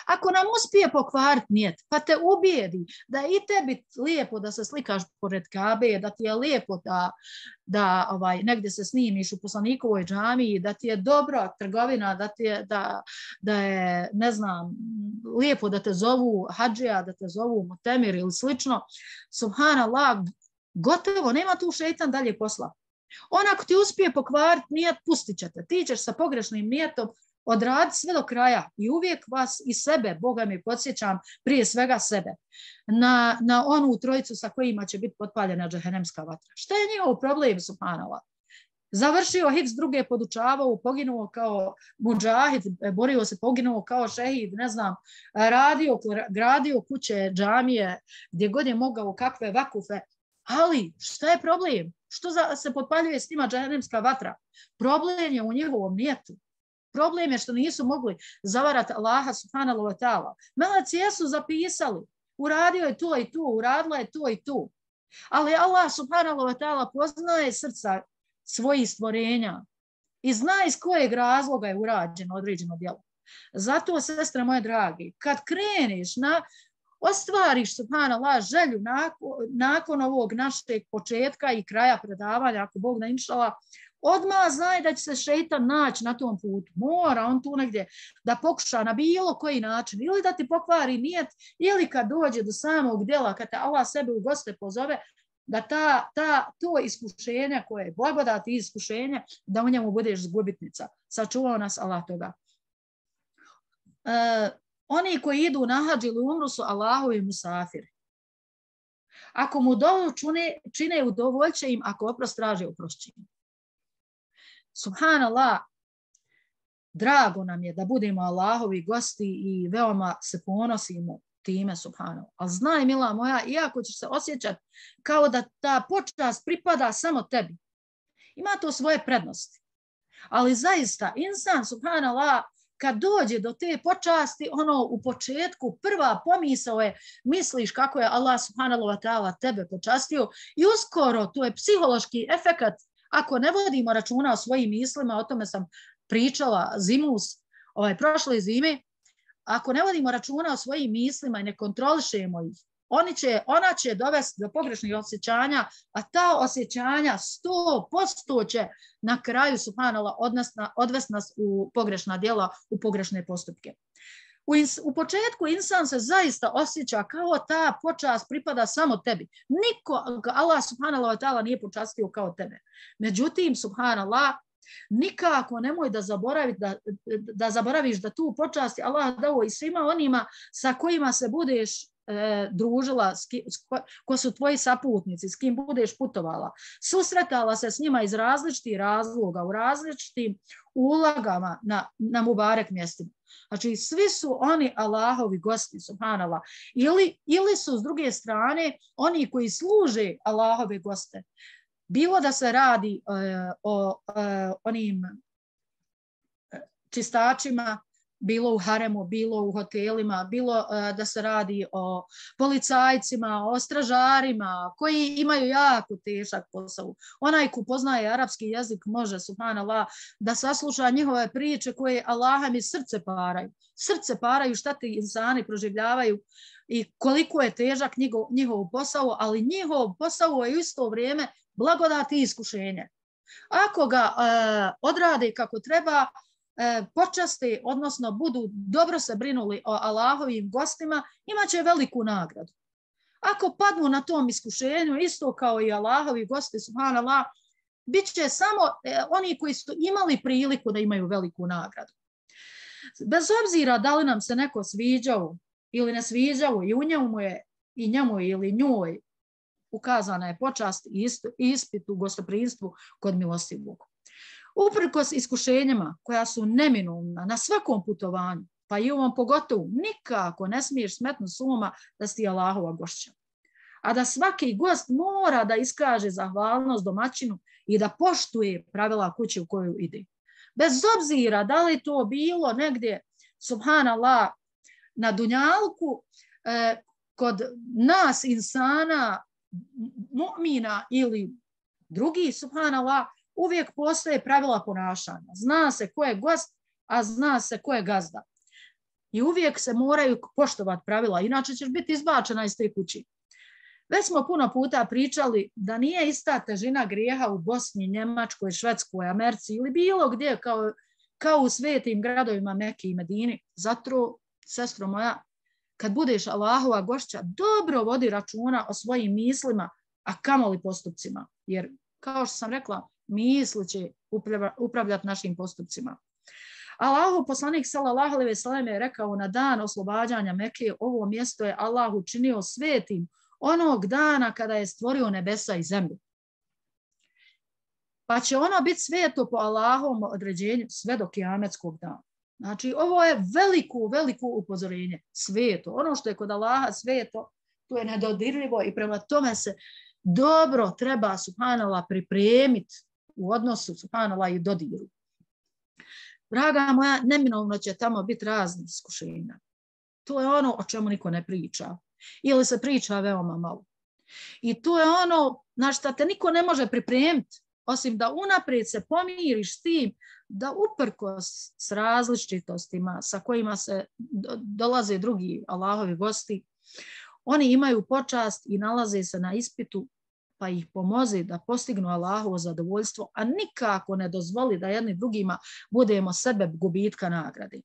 Ako nam uspije pokvariti nijet, pa te ubijedi da i tebi lijepo da se slikaš pored Kabe, da ti je lijepo da, da ovaj, negdje se snimiš u poslanikovoj džamiji, da ti je dobra trgovina, da, ti je, da, da je, ne znam, lijepo da te zovu hadžija, da te zovu mutemir ili slično, subhanallah, gotovo, nema tu šeitan dalje posla. On ako ti uspije pokvariti nijet, pustit će te. Ti ćeš sa pogrešnim nijetom odraditi sve do kraja i uvijek vas i sebe, Boga mi podsjećam, prije svega sebe, na, na onu trojicu sa kojima će biti potpaljena džehennemska vatra. Šta je njihov problem, subhanallah? Završio hifz, druge podučavao, poginuo kao mudžahid, borio se, poginuo kao šehid, ne znam, radio, gradio kuće, džamije, gdje god je mogao, kakve vakufe. Ali šta je problem? Što za, se potpaljuje s njima džehennemska vatra? Problem je u njegovom nijetu. Problem je što nisu mogli zavarati Allaha subhanahu wa ta'ala. Meleci jesu zapisali, uradio je to i to, uradila je to i to. Ali Allah subhanahu wa ta'ala poznaje srca svojih stvorenja i zna iz kojeg razloga je urađeno određeno djelo. Zato, sestre moje dragi, kad kreneš na ostvariš, subhanallah, želju nakon, nakon ovog našeg početka i kraja predavanja, ako Bog da inšala, odmah znaj da će se šeitan naći na tom putu. Mora on tu negdje da pokuša na bilo koji način, ili da ti pokvari nijet, ili kad dođe do samog djela, kad te Allah sebe u goste pozove, da ta, ta, to iskušenje koje je blagodati iskušenje, da u njemu budeš zgubitnica. Sačuvao nas Allah toga. E, Oni koji idu na hadž ili umru su Allahovi musafiri. Ako mu dovu čine, čine udovoljće im, ako oprost traže oprošćenje. Subhanallah, drago nam je da budemo Allahovi gosti i veoma se ponosimo time, subhanallah. Ali znaj, mila moja, iako ćeš se osjećati kao da ta počast pripada samo tebi, ima to svoje prednosti. Ali zaista, insan, subhanallah, kad dođe do te počasti, ono u početku prva pomisao je, misliš kako je Allah subhanahu wa ta'ala tebe počastio i uskoro to je psihološki efekat. Ako ne vodimo računa o svojim mislima, o tome sam pričala zimus, ovaj, prošle zime, ako ne vodimo računa o svojim mislima i ne kontrolišemo ih, oni će, ona će dovesti do pogrešnih osjećanja, a ta osjećanja sto posto će na kraju, subhanallah, odvesti nas u pogrešna djela, u pogrešne postupke. U, ins, u početku insan se zaista osjeća kao ta počast pripada samo tebi. Niko, Allah subhanallah wa ta'ala nije počastio kao tebe. Međutim, subhanallah, nikako nemoj da, da, da zaboraviš da tu počasti Allah dao i svima onima sa kojima se budeš e, družila, s ki, s ko, ko su tvoji saputnici, s kim budeš putovala. Susretala se s njima iz različitih razloga, u različitim ulagama na, na mubarek mjestima. Znači, svi su oni Allahovi gosti, subhanallah. Ili, ili su s druge strane oni koji služe Allahove goste. Bilo da se radi uh, o uh, onim čistačima, bilo u haremu, bilo u hotelima, bilo uh, da se radi o policajcima, o stražarima, koji imaju jako težak posao. Onaj ko poznaje arapski jezik može, subhanallah, da sasluša njihove priče koje Allaha mi srce paraju. Srce paraju šta ti insani proživljavaju i koliko je težak njihov, njihov posao, ali njihov posao je u isto vrijeme blagodati i iskušenje. Ako ga e, odrade kako treba, e, počaste, odnosno budu dobro se brinuli o Allahovim gostima, imaće veliku nagradu. Ako padnu na tom iskušenju, isto kao i Allahovi gosti, subhanallah, bit će samo e, oni koji su imali priliku da imaju veliku nagradu. Bez obzira da li nam se neko sviđao ili ne sviđao i u njemu je i njemu ili njoj ukazana je počast i ispit u gostoprimstvu kod milostivog. Uprkos iskušenjima koja su neminovna na svakom putovanju, pa i ovom pogotovo, nikako ne smiješ smetnuti s uma da si Allahova gošća. A da svaki gost mora da iskaže zahvalnost domaćinu i da poštuje pravila kuće u koju ide. Bez obzira da li to bilo negdje, subhanallah, na dunjalku, eh, kod nas insana, mu'mina ili drugi, subhanallah, uvijek postoje pravila ponašanja. Zna se ko je gost, a zna se ko je gazda. I uvijek se moraju poštovati pravila, inače ćeš biti izbačena iz te kući. Već smo puno puta pričali da nije ista težina grijeha u Bosni, Njemačkoj, Švedskoj, Americi ili bilo gdje kao, kao u svetim gradovima Mekke i Medini. Zato, sestro moja, kad budeš Allahova gošća, dobro vodi računa o svojim mislima, a kamoli postupcima. Jer, kao što sam rekla, misli će upravljati našim postupcima. Allahov poslanik sallallahu alejhi ve sellem je rekao na dan oslobađanja Mekke, ovo mjesto je Allah učinio svetim onog dana kada je stvorio nebesa i zemlju. Pa će ono biti sveto po Allahovom određenju sve do kijametskog dana. Znači, ovo je veliko, veliko upozorenje. Sveto. Ono što je kod Allaha sveto, to je nedodirljivo i prema tome se dobro treba, subhanallah, pripremiti u odnosu, subhanallah, i dodiru. Draga moja, neminovno će tamo biti razni iskušenja. To je ono o čemu niko ne priča. Ili se priča veoma malo. I to je ono na što te niko ne može pripremiti, osim da unaprijed se pomiriš s tim da uprkos s različitostima sa kojima se dolaze drugi Allahovi gosti, oni imaju počast i nalaze se na ispitu, pa ih pomozi da postignu Allahovo zadovoljstvo, a nikako ne dozvoli da jedni drugima budemo sebe gubitka nagrade.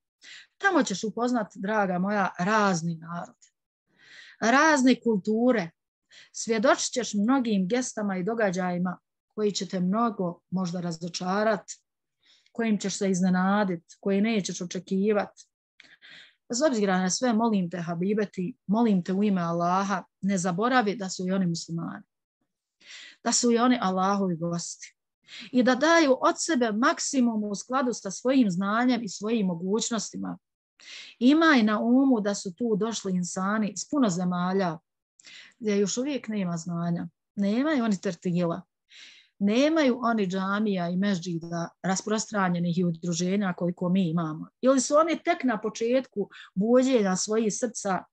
Tamo ćeš upoznati, draga moja, razni narod, razne kulture, svjedočit ćeš mnogim gestama i događajima koji će te mnogo možda razočarati, kojim ćeš se iznenaditi, koji nećeš očekivati. Bez obzira na sve, molim te, habibeti, molim te u ime Allaha, ne zaboravi da su i oni muslimani, da su i oni Allahovi gosti i da daju od sebe maksimum u skladu sa svojim znanjem i svojim mogućnostima, Imaj na umu da su tu došli insani iz puno zemalja gdje još uvijek nema znanja. Nemaju oni tertila. Nemaju oni džamija i mežđida rasprostranjenih i udruženja koliko mi imamo. Ili su oni tek na početku buđenja svojih srca.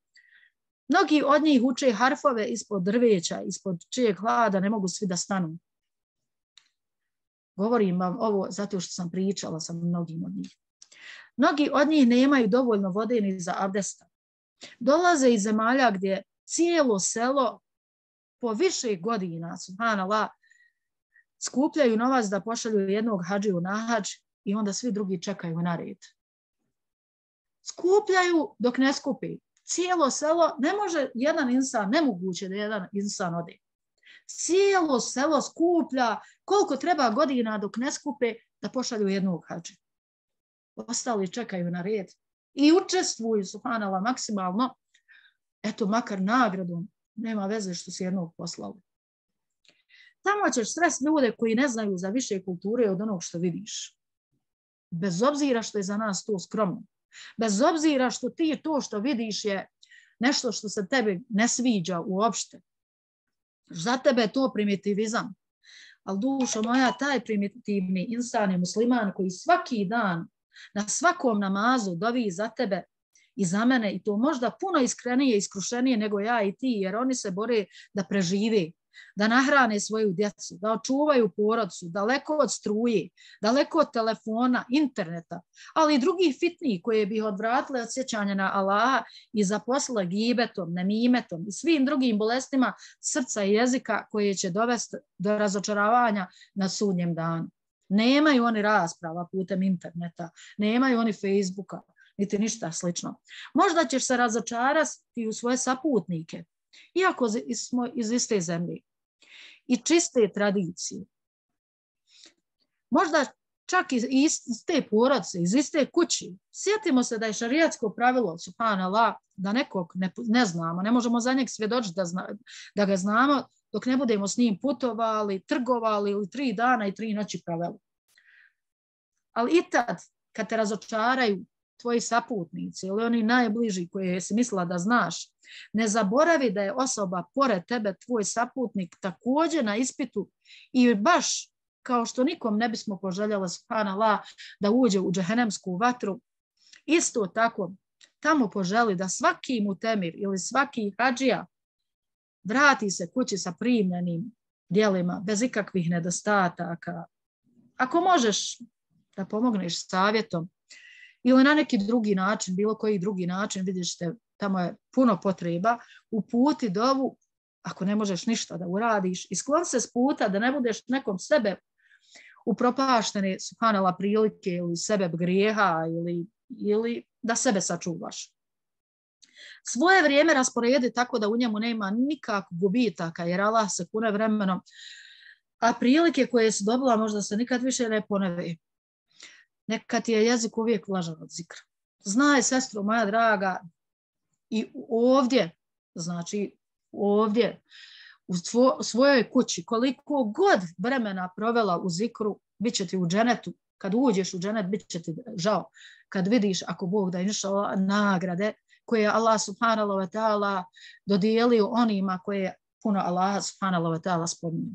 Mnogi od njih uče harfove ispod drveća, ispod čijeg hlada ne mogu svi da stanu. Govorim vam ovo zato što sam pričala sa mnogim od njih. Mnogi od njih nemaju dovoljno vode ni za abdesta. Dolaze iz zemalja gdje cijelo selo po više godina, subhanallah, skupljaju novac da pošalju jednog hadžiju na hadž i onda svi drugi čekaju na red. Skupljaju dok ne skupi. Cijelo selo, ne može jedan insan, nemoguće da jedan insan ode. Cijelo selo skuplja koliko treba godina dok ne skupe da pošalju jednog hadžiju. Ostali čekaju na red i učestvuju, subhanallah, maksimalno, eto, makar nagradom, nema veze što si jednog poslali. Tamo ćeš sresti ljude koji ne znaju za više kulture od onog što vidiš. Bez obzira što je za nas to skromno. Bez obzira što ti to što vidiš je nešto što se tebi ne sviđa uopšte. Za tebe je to primitivizam. Ali dušo moja, taj primitivni insan je musliman koji svaki dan na svakom namazu dovi za tebe i za mene i to možda puno iskrenije i iskrušenije nego ja i ti, jer oni se bore da prežive, da nahrane svoju djecu, da očuvaju porodcu, daleko od struje, daleko od telefona, interneta, ali i drugih fitnih koje bi odvratile od sjećanja na Allaha i zaposlile gibetom, nemimetom i svim drugim bolestima srca i jezika koje će dovesti do razočaravanja na sudnjem danu. Nemaju oni rasprava putem interneta, nemaju oni Facebooka, niti ništa slično. Možda ćeš se razočarati u svoje saputnike, iako smo iz iste zemlje i čiste tradicije. Možda čak iz iste porodce, iz iste kući. Sjetimo se da je šarijatsko pravilo, subhanallah, da nekog ne, ne znamo, ne možemo za njeg svjedočiti da, zna, da ga znamo dok ne budemo s njim putovali, trgovali ili tri dana i tri noći pravili. Ali i tad, kad te razočaraju tvoji saputnici ili oni najbliži koje si mislila da znaš, ne zaboravi da je osoba pored tebe, tvoj saputnik, također na ispitu i baš kao što nikom ne bismo poželjela, subhanallah, da uđe u džehennemsku vatru, isto tako tamo poželi da svaki mutemir ili svaki hadžija vrati se kući sa primljenim djelima, bez ikakvih nedostataka. Ako možeš da pomogneš savjetom ili na neki drugi način, bilo koji drugi način, vidiš te, tamo je puno potreba, uputi dovu, ako ne možeš ništa da uradiš, isklon se s puta da ne budeš nekom sebe upropaštene, subhanallah, prilike ili sebe grijeha ili, ili da sebe sačuvaš. Svoje vrijeme rasporedi tako da u njemu nema nikakvog gubitaka, jer Allah se kune vremenom, a prilike koje si dobila možda se nikad više ne ponove. Neka ti je jezik uvijek vlažan od zikra. Znaj, sestro moja draga, i ovdje, znači ovdje, u svo, svojoj kući, koliko god vremena provela u zikru, bit će ti u dženetu. Kad uđeš u dženet, bit će ti žao. Kad vidiš, ako Bog da inšala, nagrade koje je Allah subhanahu wa ta'ala dodijelio onima koje je puno Allah subhanahu wa ta'ala spominje.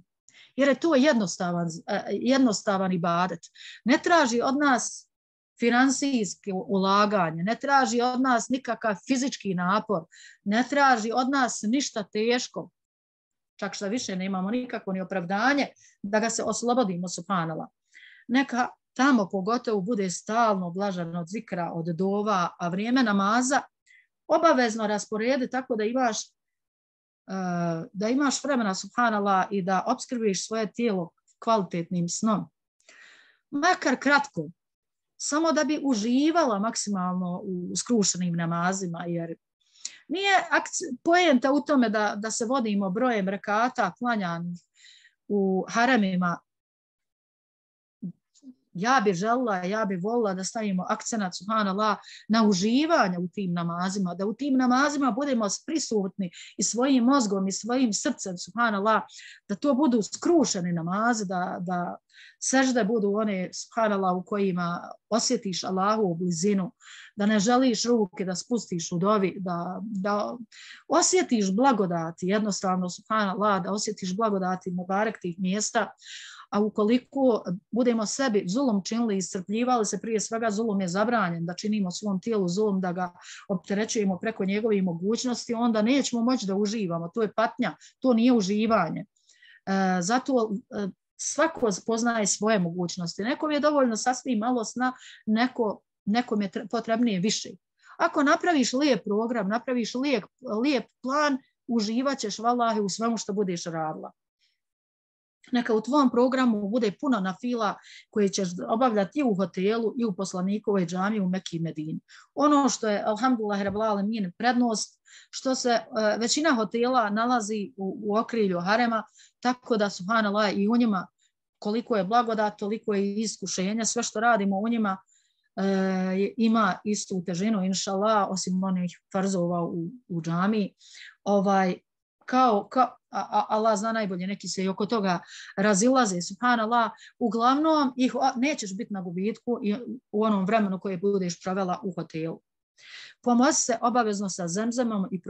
Jer je to jednostavan, jednostavan ibadet. Ne traži od nas finansijske ulaganje, ne traži od nas nikakav fizički napor, ne traži od nas ništa teško. Čak što više nemamo nikakvo ni opravdanje da ga se oslobodimo, subhanallah. Neka tamo pogotovo bude stalno blažan od zikra, od dova, a vrijeme namaza obavezno rasporedi tako da imaš da imaš vremena, subhanallah, i da opskrbiš svoje tijelo kvalitetnim snom. Makar kratko, samo da bi uživala maksimalno u skrušenim namazima, jer nije poenta u tome da, da se vodimo brojem rekata klanjanih u haremima ja bi želila, ja bi volila da stavimo akcenat, subhanallah, na uživanje u tim namazima, da u tim namazima budemo prisutni i svojim mozgom i svojim srcem, subhanallah, da to budu skrušeni namazi, da, da sežde budu one, subhanallah, u kojima osjetiš Allahovu blizinu, da ne želiš ruke da spustiš u dovi, da, da osjetiš blagodati, jednostavno, subhanallah, da osjetiš blagodati mubarek tih mjesta. A ukoliko budemo sebi zulum činili i iscrpljivali se, prije svega zulum je zabranjen, da činimo svom tijelu zulum, da ga opterećujemo preko njegovih mogućnosti, onda nećemo moći da uživamo. To je patnja, to nije uživanje. E, zato e, svako poznaje svoje mogućnosti. Nekom je dovoljno sasvim malo sna, neko, nekom je potrebnije više. Ako napraviš lijep program, napraviš lijep, lijep plan, uživat ćeš vallahi u svemu što budeš radila. Neka u tvom programu bude puno nafila koje ćeš obavljati i u hotelu i u poslanikovoj džamiji u Mekki i Medini. Ono što je, alhamdulillah, rabbil alemin, prednost, što se uh, većina hotela nalazi u, u okrilju harema, tako da, subhanallah, i u njima koliko je blagodat, toliko je iskušenja, sve što radimo u njima uh, ima istu težinu, inšallah, osim onih farzova u, u džamiji. Ovaj, kao, kao a Allah zna najbolje, neki se i oko toga razilaze, subhanallah, uglavnom ih nećeš biti na gubitku u onom vremenu koje budeš provela u hotelu. Pomozi se obavezno sa zemzemom i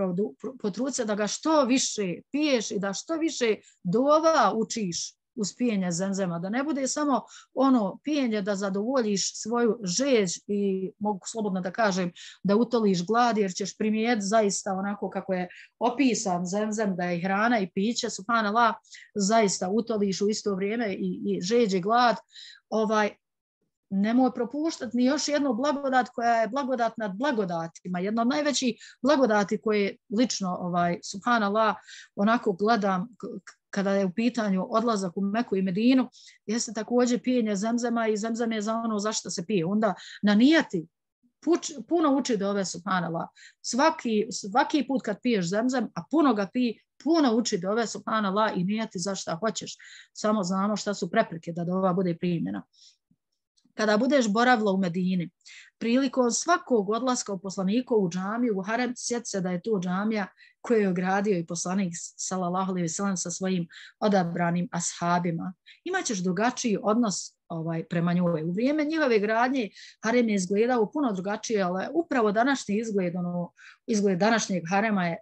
potrudi se da ga što više piješ i da što više dova učiš uz pijenje zemzema, da ne bude samo ono pijenje da zadovoljiš svoju žeđ i mogu slobodno da kažem da utoliš glad, jer ćeš primijetiti zaista onako kako je opisan zemzem, da je hrana i piće, subhanallah, zaista utoliš u isto vrijeme i, i žeđ i glad. Ovaj, nemoj propuštati ni još jednu blagodat koja je blagodat nad blagodatima. Jedna od najvećih blagodati koje lično, ovaj, subhanallah, onako gledam kada je u pitanju odlazak u Meku i Medinu, jeste također pijenje zemzema i zemzem je za ono zašto se pije. Onda na nijeti puč, puno uči dove, subhanallah. Svaki, svaki put kad piješ zemzem, a puno ga pije, puno uči dove, subhanallah, i nijeti zašto hoćeš. Samo znamo šta su prepreke da dova bude primljena. Kada budeš boravila u Medini, prilikom svakog odlaska u poslanikovu džamiju, u harem, sjeti se da je to džamija koju je gradio i poslanik sallallahu alejhi ve sellem sa svojim odabranim ashabima. Imaćeš drugačiji odnos ovaj, prema njoj. U vrijeme njihove gradnje harem je izgledao puno drugačije, ali upravo današnji izgled, ono, izgled današnjeg harema je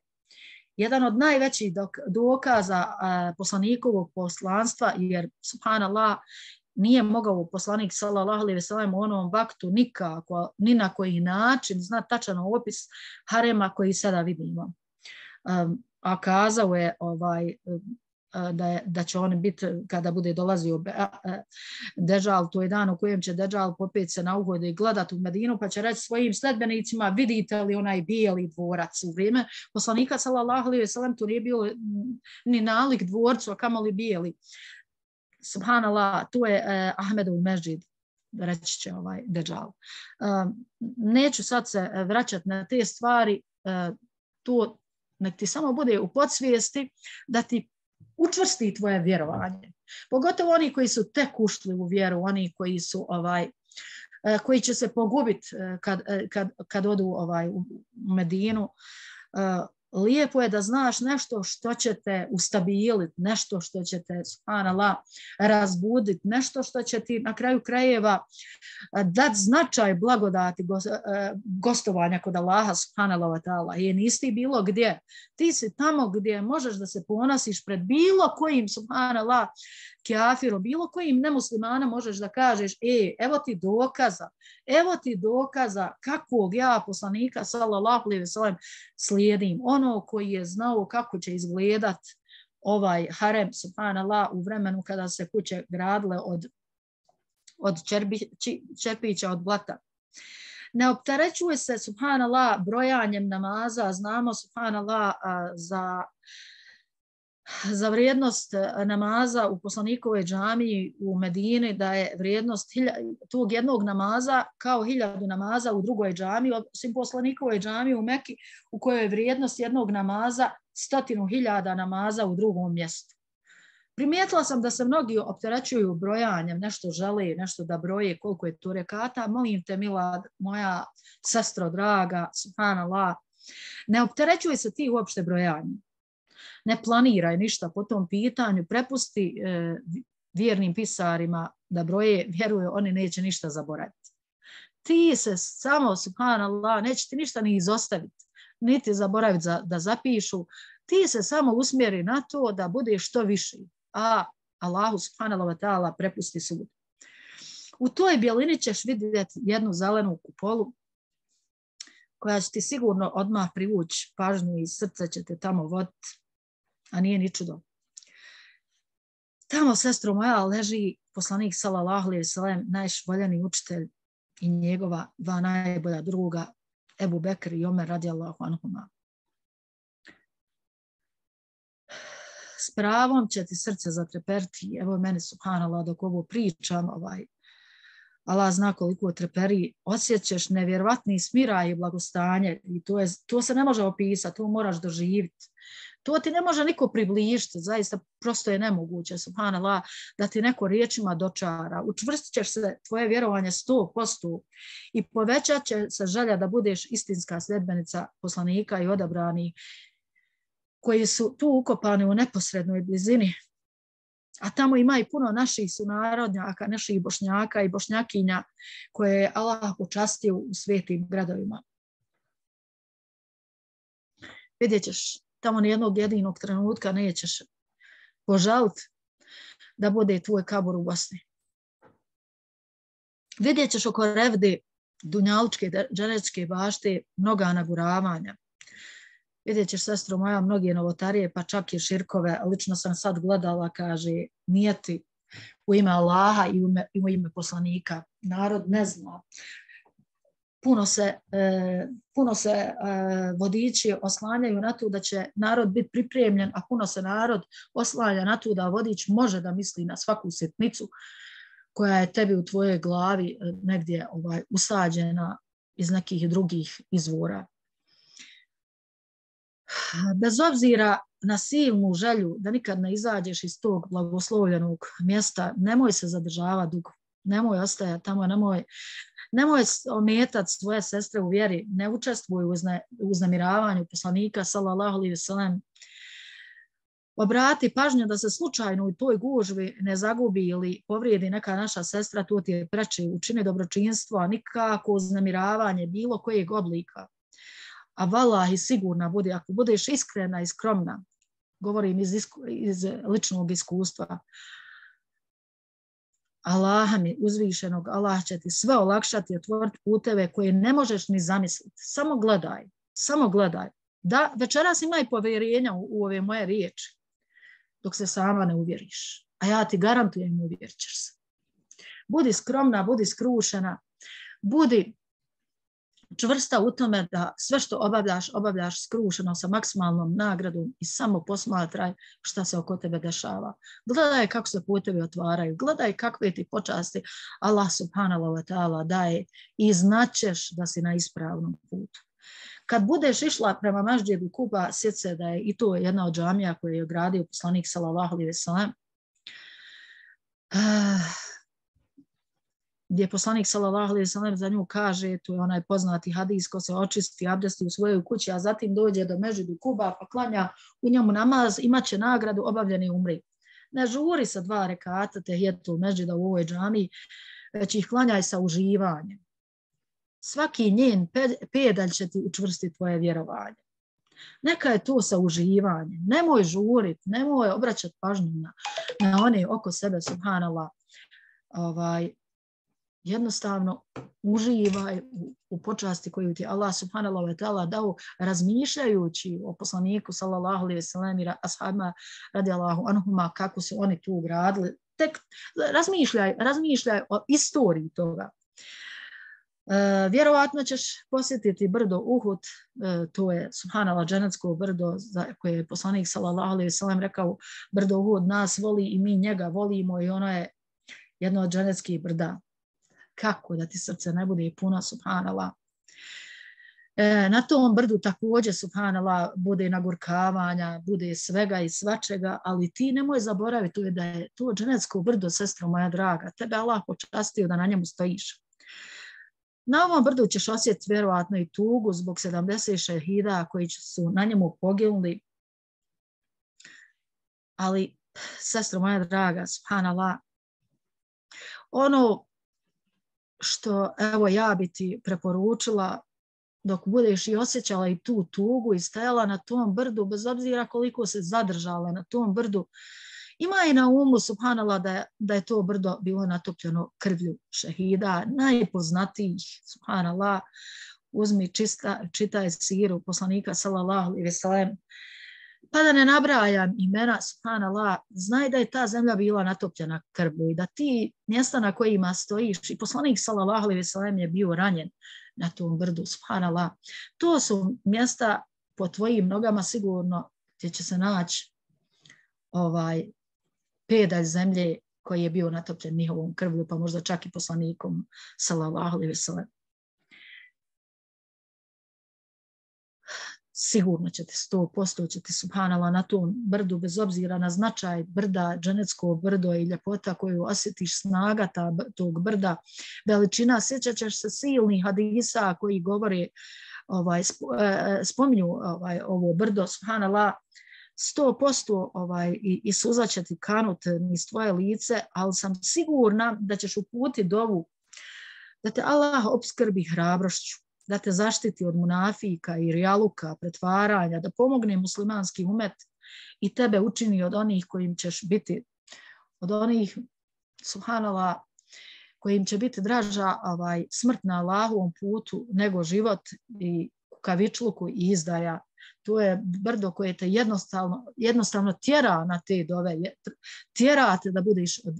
jedan od najvećih dokaza a, poslanikovog poslanstva, jer subhanallah, nije mogao poslanik sallallahu alejhi ve sellem u onom vaktu nikako, ni na koji način zna tačan opis harema koji sada vidimo. Um, a kazao je ovaj, da, je, da će on biti, kada bude dolazio Deđal, to je dan u kojem će Deđal popet se na uhode i gledati u Medinu, pa će reći svojim sledbenicima, vidite li onaj bijeli dvorac. U vrijeme poslanika sallallahu alejhi ve sellem to nije bilo ni nalik dvorcu, a kamoli bijeli. Subhanallah, tu je eh, Ahmedov mežid, reći će ovaj Deđal. Um, neću sad se vraćati na te stvari, uh, to nek ti samo bude u podsvijesti da ti učvrsti tvoje vjerovanje. Pogotovo oni koji su tek ušli u vjeru, oni koji su ovaj, uh, koji će se pogubiti uh, kad, uh, kad, kad odu ovaj, u Medinu. Uh, Lijepo je da znaš nešto što će te ustabiliti, nešto što će te, subhanallah, razbuditi, nešto što će ti na kraju krajeva dati značaj blagodati gostovanja kod Allaha, subhanallah wa ta'ala. I nisi bilo gdje. Ti si tamo gdje možeš da se ponosiš pred bilo kojim, subhanallah, kafirom, bilo kojim nemuslimana možeš da kažeš, e, evo ti dokaza, evo ti dokaza kakvog ja poslanika sallallahu alejhi ve sellem slijedim. Ono koji je znao kako će izgledat ovaj harem, subhanallah, u vremenu kada se kuće gradile od, od čerbi, čepića, od blata. Ne opterećuje se, subhanallah, brojanjem namaza. Znamo, subhanallah, za za vrijednost namaza u poslanikovoj džamiji u Medini, da je vrijednost tog jednog namaza kao hiljadu namaza u drugoj džamiji, osim poslanikovoj džamiji u Meki, u kojoj je vrijednost jednog namaza stotinu hiljada namaza u drugom mjestu. Primijetila sam da se mnogi opterećuju brojanjem, nešto žele, nešto da broje, koliko je tu rekata. Molim te, mila moja sestro draga, subhanallah, ne opterećuj se ti uopšte brojanjem. Ne planiraj ništa po tom pitanju, prepusti e, vjernim pisarima da broje, vjeruju, oni neće ništa zaboraviti. Ti se samo, subhanallah, neće ti ništa ni izostaviti, niti zaboraviti za, da zapišu. Ti se samo usmjeri na to da budeš što više, a Allahu subhanahu wa ta'ala prepusti sud. U toj bjelini ćeš vidjeti jednu zelenu kupolu koja će ti sigurno odmah privući pažnju i srce će te tamo voditi, a nije ni čudo. Tamo, sestro moja, leži poslanik sallallahu alejhi ve sellem, naš voljeni učitelj i njegova dva najbolja druga, Ebu Bekr i Omer radijallahu anhuma. S pravom će ti srce zatreperiti. Evo meni, subhanallah, dok ovo pričam, ovaj, Allah zna koliko treperi, osjećaš nevjerovatni smiraj i blagostanje i to, je, to se ne može opisati, to moraš doživjeti. To ti ne može niko približiti, zaista prosto je nemoguće, subhanallah, da ti neko riječima dočara. Učvrstit ćeš se tvoje vjerovanje sto posto i povećat će se želja da budeš istinska sljedbenica poslanika i odabrani koji su tu ukopani u neposrednoj blizini. A tamo ima i puno naših sunarodnjaka, naših bošnjaka i bošnjakinja koje je Allah počastio u svetim gradovima. Vidjet ćeš, tamo nijednog jedinog trenutka nećeš požaliti da bude tvoj kabor u Bosni. Vidjet ćeš oko Revde, dunjalučke, džanečke bašte, mnoga naguravanja. Vidjet ćeš, sestro moja, mnoge novotarije, pa čak i širkove. Lično sam sad gledala, kaže, nijeti u ime Allaha i u ime, i u ime poslanika. Narod ne zna. Puno se, e, puno se e, vodiči oslanjaju na to da će narod biti pripremljen, a puno se narod oslanja na to da vodič može da misli na svaku sitnicu koja je tebi u tvojoj glavi negdje ovaj, usađena iz nekih drugih izvora. Bez obzira na silnu želju da nikad ne izađeš iz tog blagoslovljenog mjesta, nemoj se zadržavati dugo, nemoj ostajati tamo, nemoj, nemoj ometati svoje sestre u vjeri, ne učestvuj u uznemiravanju poslanika sallallahu alejhi ve sellem. Obrati pažnju da se slučajno u toj gužvi ne zagubi ili povrijedi neka naša sestra, to ti je preče, učini dobročinstvo, a nikako uznemiravanje bilo kojeg oblika. A valahi sigurna budi, ako budeš iskrena i skromna, govorim iz, isku, iz ličnog iskustva, Allaha mi uzvišenog, Allah će ti sve olakšati, otvoriti puteve koje ne možeš ni zamisliti. Samo gledaj, samo gledaj. Da, večeras imaj povjerenja u, u ove moje riječi, dok se sama ne uvjeriš. A ja ti garantujem, uvjerit ćeš se. Budi skromna, budi skrušena, budi čvrsta u tome da sve što obavljaš, obavljaš skrušeno sa maksimalnom nagradom i samo posmatraj šta se oko tebe dešava. Gledaj kako se putevi otvaraju, gledaj kakve ti počasti Allah subhanahu wa ta'ala daje i znaćeš da si na ispravnom putu. Kad budeš išla prema Mesdžidu Kuba, sjeti se da je i to jedna od džamija koje je gradio poslanik sallallahu alejhi ve sellem. Gdje poslanik sallallahu alejhi ve sellem za nju kaže, to je onaj poznati hadis, ko se očisti, abdesti u svojoj kući, a zatim dođe do Mesdžidu Kuba pa klanja u njemu namaz, imaće nagradu obavljeni umri. Ne žuri sa dva rekata tehijetul Mesdžida u ovoj džamiji, već ih klanjaj sa uživanjem. Svaki njen pedalj će ti učvrstiti tvoje vjerovanje. Neka je to sa uživanjem. Nemoj žuriti, nemoj obraćati pažnju na, na one oko sebe, subhanallah. Ovaj, jednostavno uživaj u, u počasti koju ti Allah subhanahu wa ta'ala dao, razmišljajući o poslaniku sallallahu alejhi ve sellem i ashabima radijallahu anhuma, kako su oni tu ugradili. Tek razmišljaj, razmišljaj o istoriji toga. E, vjerovatno ćeš posjetiti brdo Uhud, e, to je subhanallah dženetsko brdo za koje je poslanik sallallahu alejhi ve sellem rekao, brdo Uhud nas voli i mi njega volimo i ono je jedno od dženetskih brda. Kako da ti srce ne bude puno, subhanallah. E, na tom brdu također, subhanallah, bude nagurkavanja, bude svega i svačega, ali ti nemoj zaboraviti da je to dženecko brdo, sestro moja draga, tebe Allah počastio da na njemu stojiš. Na ovom brdu ćeš osjetiti vjerovatno i tugu zbog sedamdeset šehida koji su na njemu poginuli, ali, sestro moja draga, subhanallah, ono što evo ja bi ti preporučila dok budeš i osjećala i tu tugu i stajala na tom brdu, bez obzira koliko se zadržala na tom brdu, ima i na umu, subhanallah, da je, da je to brdo bilo natopljeno krvlju šehida, najpoznatijih, subhanallah, uzmi, čista, čitaj siru poslanika, sallallahu alejhi ve sellem, pa da ne nabrajam imena, subhanallah, znaj da je ta zemlja bila natopljena krvlju i da ti mjesta na kojima stojiš, i poslanik, sallallahu alejhi ve sellem, je bio ranjen na tom brdu, subhanallah. To su mjesta po tvojim nogama sigurno gdje će se naći ovaj pedalj zemlje koji je bio natopljen njihovom krvlju, pa možda čak i poslanikom, sallallahu alejhi ve sellem. Sigurno ćete sto posto ćete, subhanallah, na tom brdu, bez obzira na značaj brda, dženecko brdo i ljepota koju osjetiš, snaga ta, tog brda, veličina, sjećat ćeš se silnih hadisa koji govore, ovaj, spominju ovaj, ovo brdo, subhanallah, sto posto ovaj, i, i suza će ti kanut niz tvoje lice, ali sam sigurna da ćeš uputiti dovu, da te Allah opskrbi hrabrošću, da te zaštiti od munafika i rijaluka, pretvaranja, da pomogne muslimanski umet i tebe učini od onih kojim ćeš biti, od onih, subhanallah, kojim će biti draža ovaj, smrt na Allahovom putu nego život i kukavičluku i izdaja. To je brdo koje te jednostavno, jednostavno tjera na te dove, tjera te da budeš od,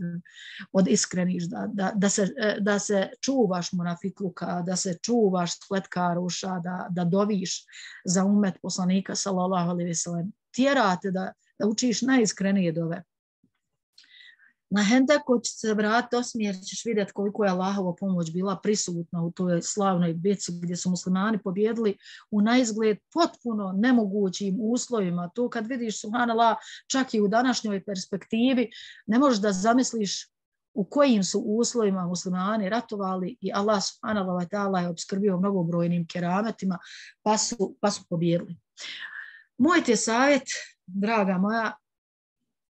od iskrenih, da, da, da, se, da se čuvaš munafikluka, da se čuvaš spletkaruša, da, da doviš za umet poslanika, sallallahu alejhi ve sellem. Tjera te da, da učiš najiskrenije dove. Na Hendeku će se vratiti osmije, ćeš vidjeti koliko je Allahova pomoć bila prisutna u toj slavnoj bitci gdje su muslimani pobjedili u naizgled potpuno nemogućim uslovima. To kad vidiš, subhanallah, čak i u današnjoj perspektivi, ne možeš da zamisliš u kojim su uslovima muslimani ratovali i Allah, subhanallah, ta'ala je obskrbio mnogobrojnim kerametima, pa su, pa su pobjedili. Moj ti je savjet, draga moja,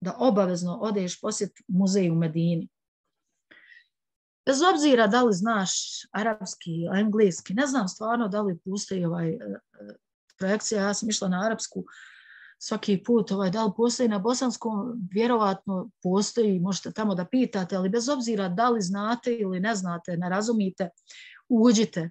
da obavezno odeš posjetiti muzej u Medini. Bez obzira da li znaš arapski, engleski, ne znam stvarno da li postoji ovaj projekcija, ja sam išla na arapsku svaki put, ovaj, da li postoji na bosanskom, vjerovatno postoji, možete tamo da pitate, ali bez obzira da li znate ili ne znate, ne razumite, uđite.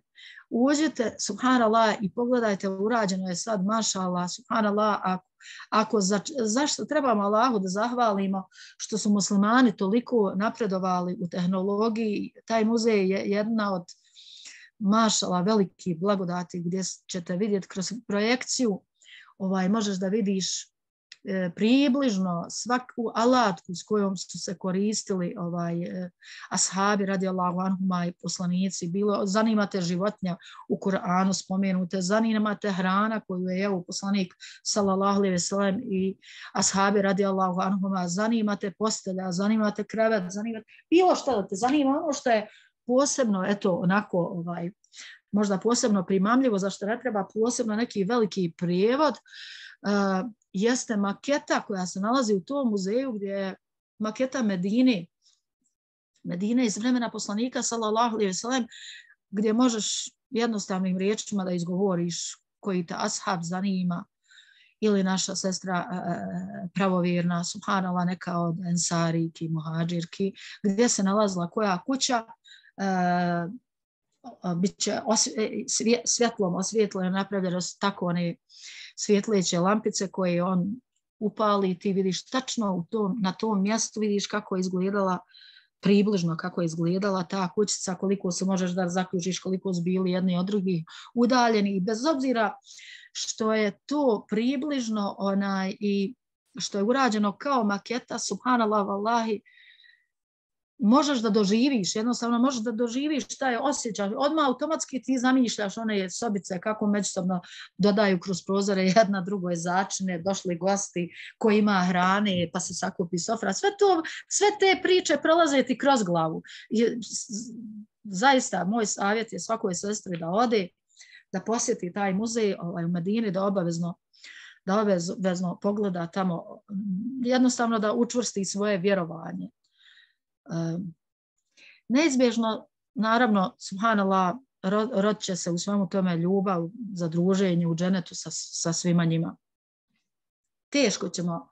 Uđite, subhanallah, i pogledajte, urađeno je sad, mašallah, subhanallah, ako, ako za, zašto trebamo Allahu da zahvalimo što su muslimani toliko napredovali u tehnologiji, taj muzej je jedna od, mašallah, velikih blagodati gdje ćete vidjeti kroz projekciju, ovaj, možeš da vidiš e, približno svaku alatku s kojom su se koristili ovaj, e, ashabi radijallahu anhuma i poslanici. Bilo, zanimate životinja u Kur'anu spomenute, zanimate hrana koju je evo poslanik sallallahu alejhi ve sellem i ashabi radijallahu anhuma, zanimate postelja, zanimate krevet, zanimate bilo što da te zanima, ono što je posebno, eto, onako, ovaj, možda posebno primamljivo, zašto ne treba posebno neki veliki prijevod, uh, jeste maketa koja se nalazi u tom muzeju gdje je maketa Medine, Medine iz vremena poslanika, sallallahu alejhi ve sellem, gdje možeš jednostavnim riječima da izgovoriš koji te ashab zanima, ili naša sestra uh, pravovjerna, subhanallah, neka od ensariki, muhađirki, gdje se nalazila koja kuća, uh, bit će osvje, svjetlom osvjetljeno, napravljeno su tako one svjetleće lampice koje on upali, ti vidiš tačno u tom, na tom mjestu vidiš kako je izgledala, približno kako je izgledala ta kućica, koliko se možeš da zaključiš, koliko su bili jedni od drugih udaljeni, i bez obzira što je to približno onaj i što je urađeno kao maketa, subhanallah, vallahi, možeš da doživiš, jednostavno možeš da doživiš šta je osjećaš, odmah automatski ti zamišljaš one sobice kako međusobno dodaju kroz prozore jedna drugoj začine, došli gosti, ko ima hrane, pa se sakupi sofra, sve to, sve te priče prolaze ti kroz glavu. I, zaista, moj savjet je svakoj sestri da ode, da posjeti taj muzej ovaj, u Medini, da obavezno da obavezno pogleda tamo, jednostavno da učvrsti svoje vjerovanje. Um, neizbježno, naravno, subhanallah, rodit će se u svemu tome ljubav za druženje u dženetu sa, sa svima njima. Teško ćemo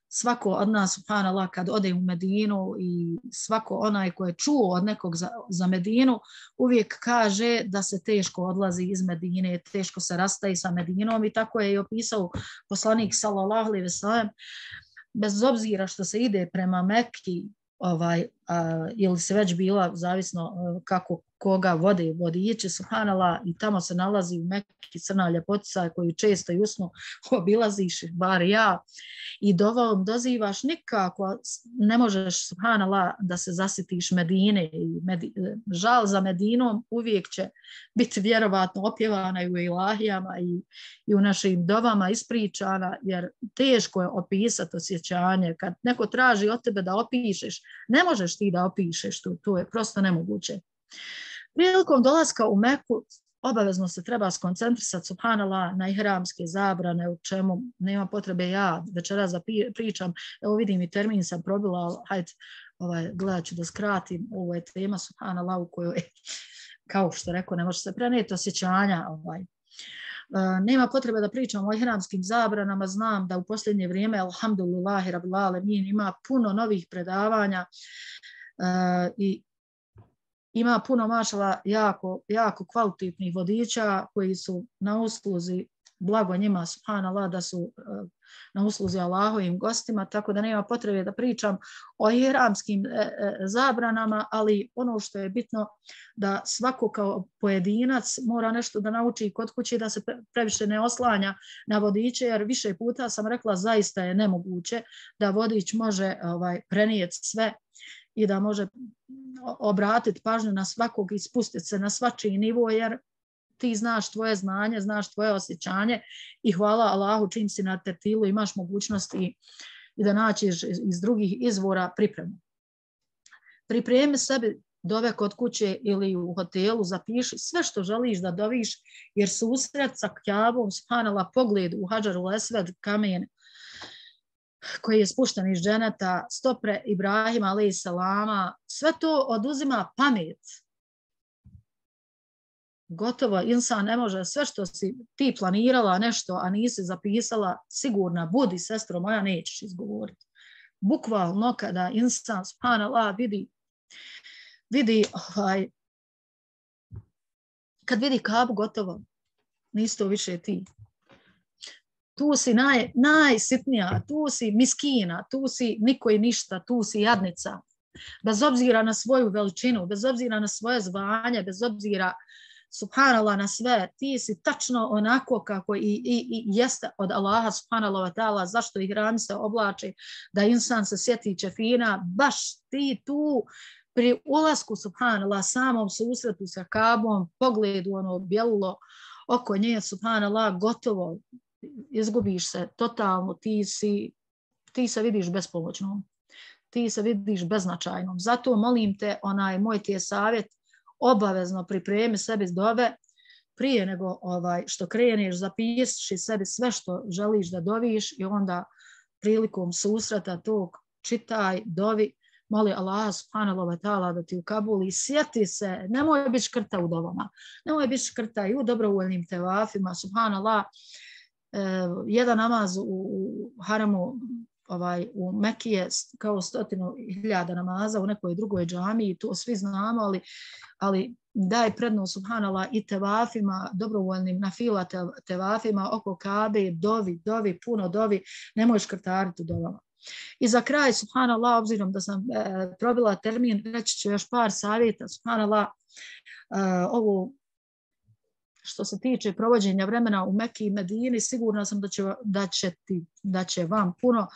svako od nas, subhanallah, kad ode u Medinu i svako onaj ko je čuo od nekog za, za Medinu, uvijek kaže da se teško odlazi iz Medine, teško se rastaje sa Medinom i tako je i opisao poslanik sallallahu alejhi ve sellem. Bez obzira što se ide prema Mekki, ovaj, a, ili se već bila, zavisno a, kako koga vode vodiči, subhanallah, i tamo se nalazi u Mekki crna ljepotica koju često i usnu obilaziš, bar ja, i dovom dozivaš, nikako ne možeš, subhanallah, da se zasitiš Medine. I Medi, žal za Medinom uvijek će biti vjerovatno opjevana i u ilahijama i, i u našim dovama ispričana, jer teško je opisati osjećanje. Kad neko traži od tebe da opišeš, ne možeš ti da opišeš, to, to je prosto nemoguće. Prilikom dolaska u Meku obavezno se treba skoncentrisati, subhanallah, na ihramske zabrane, u čemu nema potrebe ja večeras da pričam. Evo vidim i termin sam probila, ali hajde, ovaj, gledat ću da skratim. Ovo je tema, subhanallah, u kojoj, kao što rekao, ne može se prenijeti osjećanja. Ovaj. Uh, nema potrebe da pričam o ihramskim zabranama, znam da u posljednje vrijeme, alhamdulillahi rabbil alemin, ima puno novih predavanja uh, i ima puno mašala jako, jako kvalitetnih vodiča koji su na usluzi, blago njima, subhanallah, da su uh, na usluzi Allahovim gostima, tako da nema potrebe da pričam o ihramskim e, e, zabranama, ali ono što je bitno da svako kao pojedinac mora nešto da nauči kod kuće, da se previše ne oslanja na vodiče, jer više puta sam rekla zaista je nemoguće da vodič može ovaj, prenijeti sve i da može obratiti pažnju na svakog i spustiti se na svačiji nivo, jer ti znaš tvoje znanje, znaš tvoje osjećanje i hvala Allahu čim si na tertilu imaš mogućnost i, i da naćiš iz drugih izvora pripremu. Pripremi sebi dove kod kuće ili u hotelu, zapiši sve što želiš da doviš, jer susret sa Kjabom, subhanallah, pogled u Hadžarul Esved, kamen koji je spušten iz dženeta, stopre Ibrahima alejhi selama, sve to oduzima pamet. Gotovo, insan ne može, sve što si ti planirala nešto, a nisi zapisala, sigurna, budi, sestro moja, nećeš izgovoriti. Bukvalno kada insan, subhanallah, vidi, vidi, ovaj, kad vidi Kabu, gotovo, nisi to više ti. Tu si naj, najsitnija, tu si miskina, tu si niko i ništa, tu si jadnica. Bez obzira na svoju veličinu, bez obzira na svoje zvanje, bez obzira, subhanallah, na sve, ti si tačno onako kako i, i, i jeste od Allaha, subhanallah wa ta'ala, zašto ihrami se oblači, da insan se sjeti čefina, baš ti tu pri ulasku, subhanallah, samom susretu sa Kabom, pogledu ono bjelulo oko nje, subhanallah, gotovo, izgubiš se totalno, ti, si, ti se vidiš bespomoćnom, ti se vidiš beznačajnom. Zato molim te, onaj moj ti je savjet, obavezno pripremi sebi dove prije nego ovaj, što kreneš, zapiši sebi sve što želiš da doviš i onda prilikom susreta tog čitaj, dovi, moli Allah subhanahu wa ta'ala da ti ukabuli, sjeti se, nemoj biti škrta u dovama, nemoj biti škrta i u dobrovoljnim tevafima, subhanallah, eh, jedan namaz u, u haramu ovaj, u Mekiji je kao stotinu hiljada namaza u nekoj drugoj džamiji, to svi znamo, ali, ali daj prednost, subhanallah, i tevafima, dobrovoljnim nafila tevafima oko Kabe, dovi, dovi, puno dovi, nemoj škrtariti u dovama. I za kraj, subhanallah, obzirom da sam e, probila termin, reći ću još par savjeta, subhanallah, e, ovo što se tiče provođenja vremena u Meki i Medini, sigurna sam da će, da će, ti, da će vam puno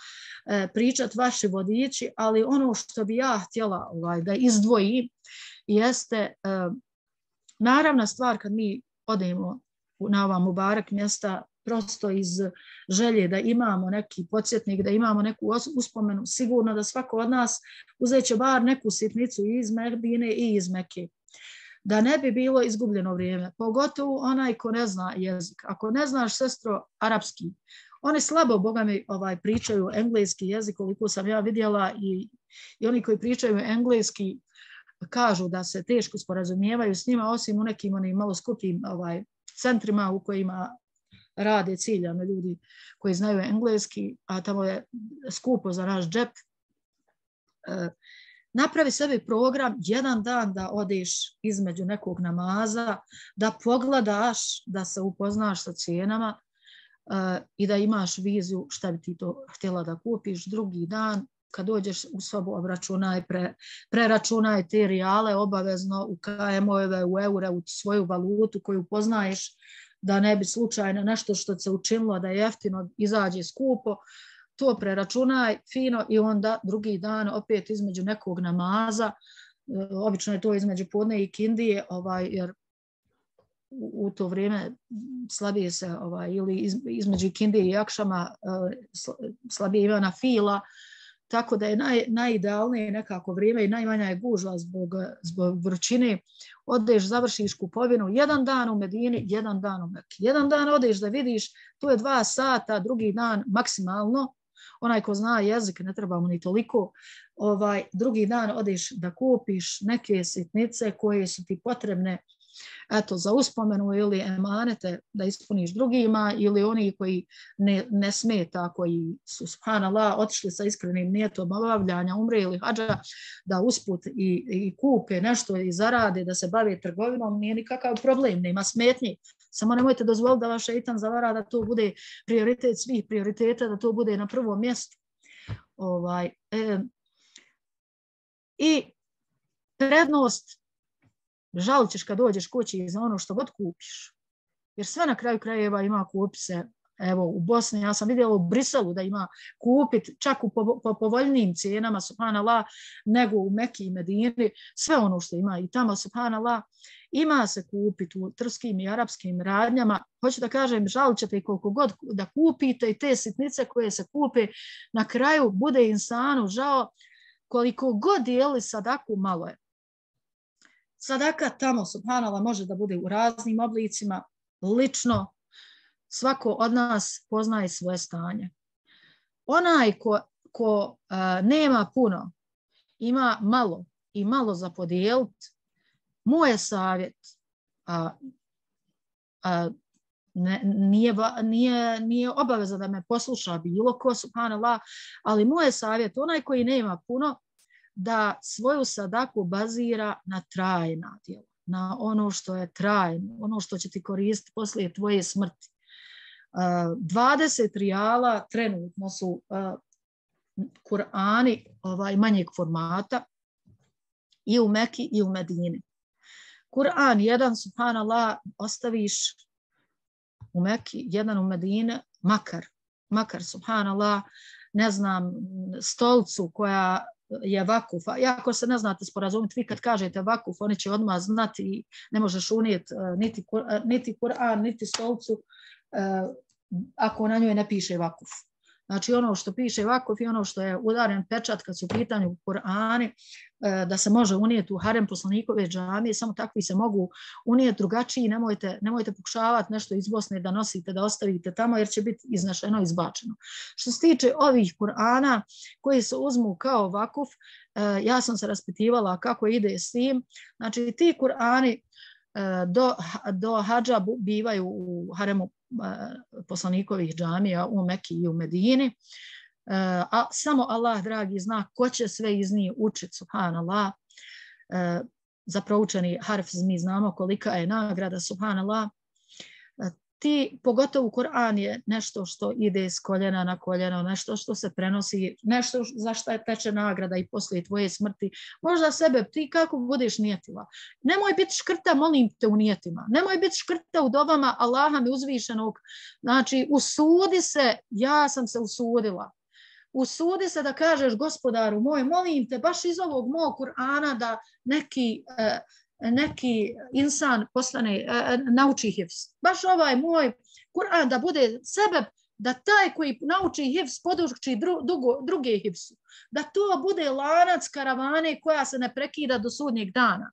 e, pričati vaši vodiči, ali ono što bi ja htjela ovaj, da izdvojim jeste e, naravna stvar kad mi odemo na ova Mubarak mjesta prosto iz želje da imamo neki podsjetnik, da imamo neku uspomenu, sigurno da svako od nas uzeće bar neku sitnicu i iz Medine i iz Mekke. Da ne bi bilo izgubljeno vrijeme, pogotovo onaj ko ne zna jezik. Ako ne znaš, sestro, arapski, oni slabo, boga mi, ovaj, pričaju engleski jezik, koliko sam ja vidjela, i, i oni koji pričaju engleski kažu da se teško sporazumijevaju s njima, osim u nekim onim malo skupim ovaj, centrima u kojima rade ciljano ljudi koji znaju engleski, a tamo je skupo za naš džep. E, napravi sebi program jedan dan da odeš između nekog namaza, da pogledaš, da se upoznaš sa cijenama e, i da imaš viziju šta bi ti to htjela da kupiš. Drugi dan kad dođeš u sobu, obračunaj, pre, preračunaj te rijale obavezno u K M-ove, u eure, u svoju valutu koju poznaješ, da ne bi slučajno nešto što se učinilo da je jeftino izađe skupo, to preračunaj fino i onda drugi dan opet između nekog namaza, obično je to između podne i kindije, ovaj, jer u, u to vrijeme slabije se, ovaj, ili iz, između kindije i akšama slabije ima na fila, tako da je naj, najidealnije nekako vrijeme i najmanja je gužva zbog, zbog vrućine. Odeš, završiš kupovinu, jedan dan u Medini, jedan dan u Meki. Jedan dan odeš da vidiš, to je dva sata, drugi dan maksimalno. Onaj ko zna jezik, ne trebamo ni toliko. Ovaj, drugi dan odeš da kupiš neke sitnice koje su ti potrebne, eto, za uspomenu ili emanete da ispuniš drugima, ili oni koji ne, ne smeta, koji su, subhanallah, otišli sa iskrenim nijetom obavljanja umre ili hadža, da usput i, i kupe nešto i zarade, da se bave trgovinom, nije nikakav problem, nema smetnji. Samo nemojte dozvoliti da vaš šeitan zavara da to bude prioritet svih prioriteta, da to bude na prvom mjestu. Ovaj, e, I prednost žalit ćeš kad dođeš kući za ono što god kupiš. Jer sve na kraju krajeva ima kupi se. Evo, u Bosni, ja sam vidjela u Briselu da ima kupit čak u po, po povoljnijim cijenama, subhanallah, nego u Meki i Medini. Sve ono što ima i tamo, subhanallah, ima se kupiti u trskim i arapskim radnjama. Hoću da kažem, žalit ćete i koliko god da kupite i te sitnice koje se kupe, na kraju bude insanu žao koliko god dijeli sadaku, malo je. Sadaka tamo, subhanallah, može da bude u raznim oblicima, lično, svako od nas poznaje svoje stanje. Onaj ko, ko a, nema puno, ima malo i malo za podijeliti, moj je savjet, a, a, ne, nije, nije, nije obaveza da me posluša bilo ko, subhanallah, ali moj je savjet, onaj koji nema puno, da svoju sadaku bazira na trajna djela, na ono što je trajno, ono što će ti koristiti poslije tvoje smrti. dvadeset rijala trenutno su Kur'ani ovaj, manjeg formata i u Meki i u Medini. Kur'an jedan, subhanallah, ostaviš u Meki, jedan u Medini, makar, makar, subhanallah, ne znam, stolcu koja je vakuf. Iako se ne znate sporazumiti, vi kad kažete vakuf, oni će odmah znati i ne možeš unijeti niti, niti Kur'an, niti stolcu ako na njoj ne piše vakuf. Znači ono što piše vakuf i ono što je udaren pečat kad su u pitanju Kur'ani, da se može unijeti u harem poslanikove džamije, samo takvi se mogu unijeti, drugačiji, nemojte, nemojte pokušavati nešto iz Bosne da nosite, da ostavite tamo jer će biti iznešeno, izbačeno. Što se tiče ovih Kur'ana koji se uzmu kao vakuf, ja sam se raspitivala kako ide s tim. Znači ti Kur'ani do, do hadža bivaju u haremu poslanikovih džamija u Meki i u Medini, a samo Allah dragi zna ko će sve iz njih učiti, subhanallah. Za proučeni harf mi znamo kolika je nagrada, subhanallah. ti, pogotovo Kur'an je nešto što ide s koljena na koljeno, nešto što se prenosi, nešto za što je teče nagrada i poslije tvoje smrti. Možda sebe, ti kako budeš nijetila. Nemoj biti škrta, molim te, u nijetima. Nemoj biti škrta u dobama Allaha mi uzvišenog. Znači, usudi se, ja sam se usudila. Usudi se da kažeš gospodaru moj, molim te, baš iz ovog mog Kur'ana da neki... Eh, neki insan postane, nauči hifz. Baš ovaj moj Kur'an da bude sebe, da taj koji nauči hifz poduči dru, drugo, druge hifzu. Da to bude lanac karavane koja se ne prekida do sudnjeg dana.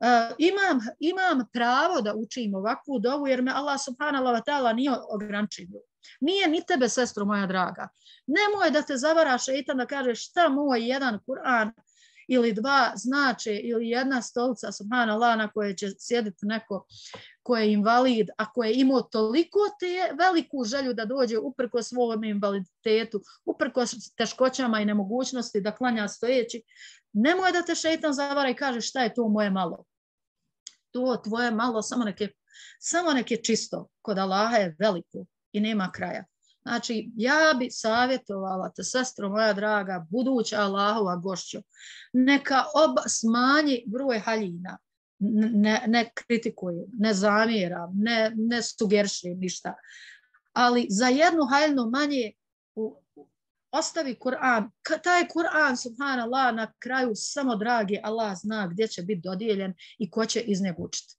Uh, imam, imam pravo da učim ovakvu dovu jer me Allah subhanahu wa ta'ala nije ograničio. Nije ni tebe, sestro moja draga. Nemoj da te zavara šeitan da kažeš šta moj jedan Kur'an ili dva znače, ili jedna stolica, subhanallah, na koje će sjediti neko ko je invalid, a ko je imao toliko te veliku želju da dođe uprkos svom invaliditetu, uprkos teškoćama i nemogućnosti da klanja stojeći, nemoj da te šeitan zavara i kaže šta je to moje malo. To tvoje malo samo neke, samo neke čisto, kod Allaha je veliko i nema kraja. Znači, ja bi savjetovala te, sestro moja draga, buduća Allahova gošćo, neka oba smanji broj haljina, ne, ne kritikuje, ne zamjera, ne, ne sugeriše ništa, ali za jednu haljinu manje u, ostavi Kur'an. Taj Kur'an, subhanallah, na kraju samo dragi Allah zna gdje će biti dodijeljen i ko će iz njega učiti.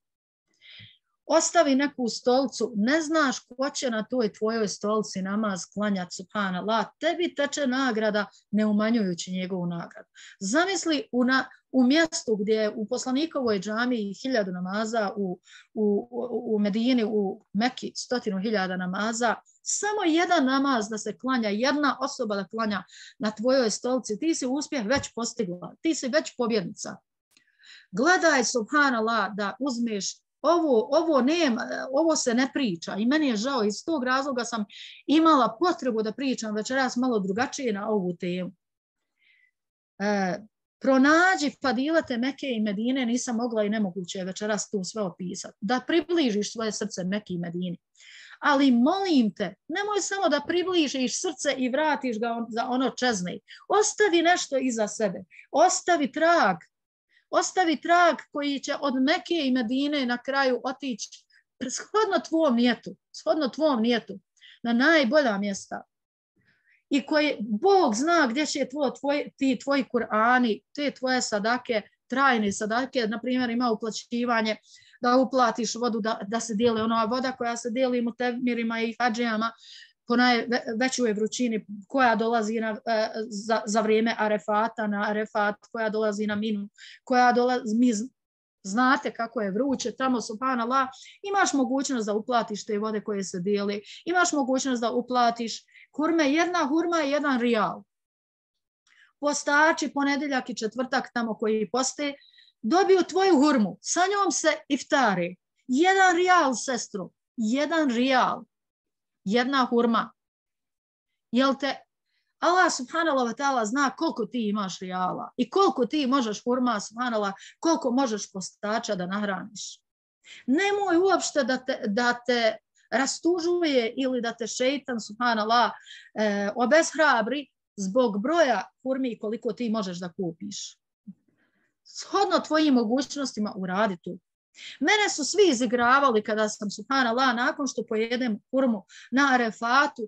Ostavi neku stolicu, ne znaš ko će na toj tvojoj stolici namaz klanjati, subhanallah, tebi teče nagrada ne umanjujući njegovu nagradu. Zamisli u, na, u mjestu gdje je u poslanikovoj džamiji hiljadu namaza, u, u, u Medini, u Meki stotinu hiljada namaza, samo jedan namaz da se klanja, jedna osoba da klanja na tvojoj stolici, ti si uspjeh već postigla, ti si već pobjednica. Gledaj, subhanallah, da uzmeš Ovo, ovo, nema, ovo se ne priča i meni je žao, iz tog razloga sam imala potrebu da pričam večeras malo drugačije na ovu temu. E, pronađi fadilete Mekke i Medine, nisam mogla i nemoguće je večeras tu sve opisati. Da približiš svoje srce Mekke i Medini. Ali molim te, nemoj samo da približiš srce i vratiš ga on, za ono čezne. Ostavi nešto iza sebe, ostavi trag. Ostavi trag koji će od Mekke i Medine na kraju otići shodno tvom nijetu, shodno tvom nijetu, na najbolja mjesta. I koji Bog zna gdje će tvoj, tvoj, ti tvoji Kur'ani, te tvoje sadake, trajne sadake, na primjer ima uplaćivanje, da uplatiš vodu, da, da se dijeli ona voda koja se dijeli mutemirima i hadžijama, po najvećoj vrućini koja dolazi na, za, za vrijeme Arefata, na Arefat, koja dolazi na Minu, koja dolazi, mi znate kako je vruće, tamo subhanallah, imaš mogućnost da uplatiš te vode koje se dijeli, imaš mogućnost da uplatiš hurme, jedna hurma je jedan rijal. Postači ponedjeljak i četvrtak tamo koji poste, dobiju tvoju hurmu, sa njom se iftari. Jedan rijal, sestro, jedan rijal. Jedna hurma. Jel te Allah subhanallah wa ta'ala zna koliko ti imaš rijala i koliko ti možeš hurma subhanallah, koliko možeš postača da nahraniš. Nemoj uopšte da te, da te rastužuje ili da te šeitan subhanallah eh, obeshrabri zbog broja hurmi koliko ti možeš da kupiš. Shodno tvojim mogućnostima uradi tu. Mene su svi izigravali kada sam, subhanallah, nakon što pojedem hurmu na Arefatu,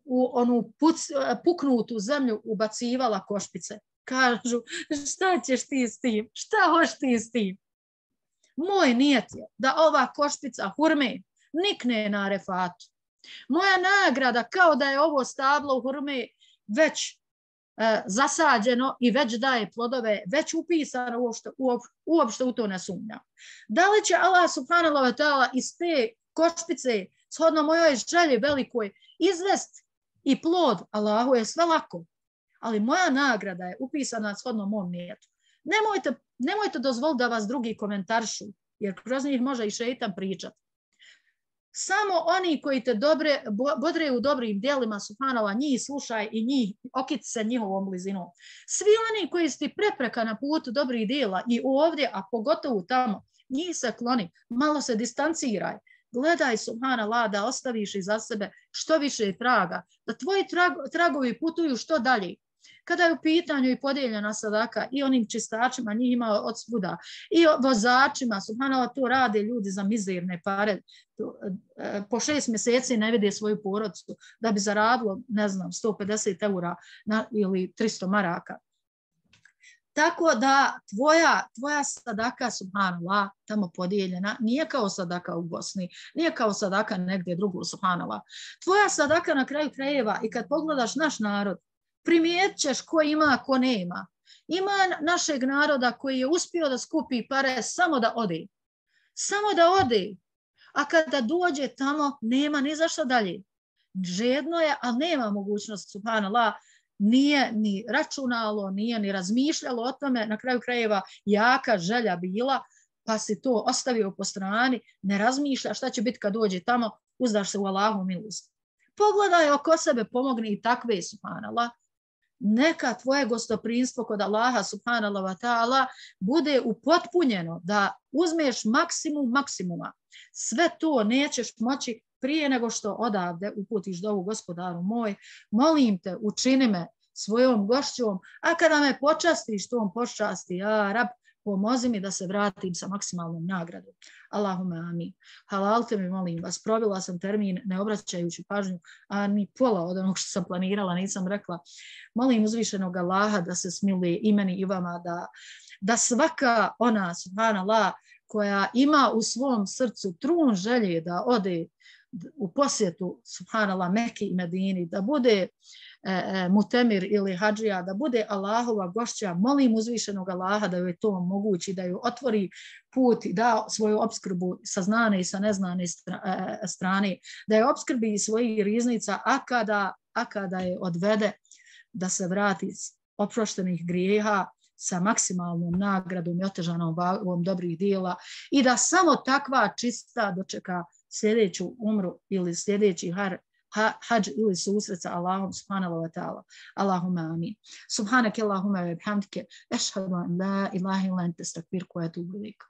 u onu puc, puknutu zemlju ubacivala košpice. Kažu, šta ćeš ti s tim? Šta hoš ti s tim? Moj nijet je da ova košpica hurme nikne na Arefatu. Moja nagrada kao da je ovo stablo hurme već e, zasađeno i već daje plodove, već upisano uopšte, uopšte u to ne sumnjam. Da li će Allah subhanahu wa ta'ala iz te košpice shodno mojoj želji velikoj izvest i plod? Allahu je sve lako, ali moja nagrada je upisana shodno mom nijetu. Nemojte, nemojte dozvoliti da vas drugi komentarišu, jer kroz njih može i šeitan pričati. Samo oni koji te dobre, bodre u dobrim djelima, subhanallah, njih slušaj i njih okiti se njihovom blizinom. Svi oni koji su ti prepreka na putu dobrih djela i ovdje, a pogotovo tamo, njih se kloni, malo se distanciraj. Gledaj, subhanallah, da ostaviš iza sebe što više traga, da tvoji trag, tragovi putuju što dalje. Kada je u pitanju i podijeljena sadaka i onim čistačima, njih ima od svuda, i vozačima, subhanallah, to rade ljudi za mizerne pare, po šest mjeseci ne vide svoju porodicu da bi zaradilo, ne znam, sto pedeset eura na, ili tristo maraka. Tako da tvoja, tvoja sadaka, subhanallah, tamo podijeljena, nije kao sadaka u Bosni, nije kao sadaka negdje drugo, subhanallah. Tvoja sadaka na kraju krajeva i kad pogledaš naš narod, primijetit ćeš ko ima, ko nema. Ima našeg naroda koji je uspio da skupi pare samo da ode. Samo da ode. A kada dođe tamo, nema ni zašto dalje. Žedno je, ali nema mogućnost, subhanallah, nije ni računalo, nije ni razmišljalo o tome, na kraju krajeva jaka želja bila, pa si to ostavio po strani, ne razmišlja šta će biti kad dođe tamo, uzdaš se u Allahu milost. Pogledaj oko sebe, pomogni i takve, subhanallah. Neka tvoje gostoprinstvo kod Allaha, subhanallah wa ta'ala, bude upotpunjeno, da uzmeš maksimum maksimuma. Sve to nećeš moći prije nego što odavde uputiš dovu, gospodaru moj, molim te, učini me svojom gošćom, a kada me počastiš tom počasti, ja rab, pomozi mi da se vratim sa maksimalnom nagradom. Allahumma amin. Halalte mi, molim vas, probila sam termin ne obraćajući pažnju, a ni pola od onog što sam planirala, nisam rekla. Molim uzvišenog Allaha da se smiluje i meni i vama, da, da svaka ona, subhanallah, koja ima u svom srcu trun želje da ode u posjetu, subhanallah, Mekke i Medini, da bude e, e, mutemir ili hadžija, da bude Allahova gošća, molim uzvišenog Allaha da joj to omogući, da joj otvori put i da svoju opskrbu sa znane i sa neznane strane, da je opskrbi i svojih riznica, a kada, a kada je odvede da se vrati oproštenih grijeha sa maksimalnom nagradom i otežanom vagom dobrih dijela i da samo takva čista dočeka sljedeću umru ili sljedeći har, ha, hađ ili susret sa Allahom subhanahu wa ta'ala. Allahumma amin. Subhanake Allahumma wa bihamdike, ešhadu an la ilaha illa ente, estakfiruke wa etubu ilejk.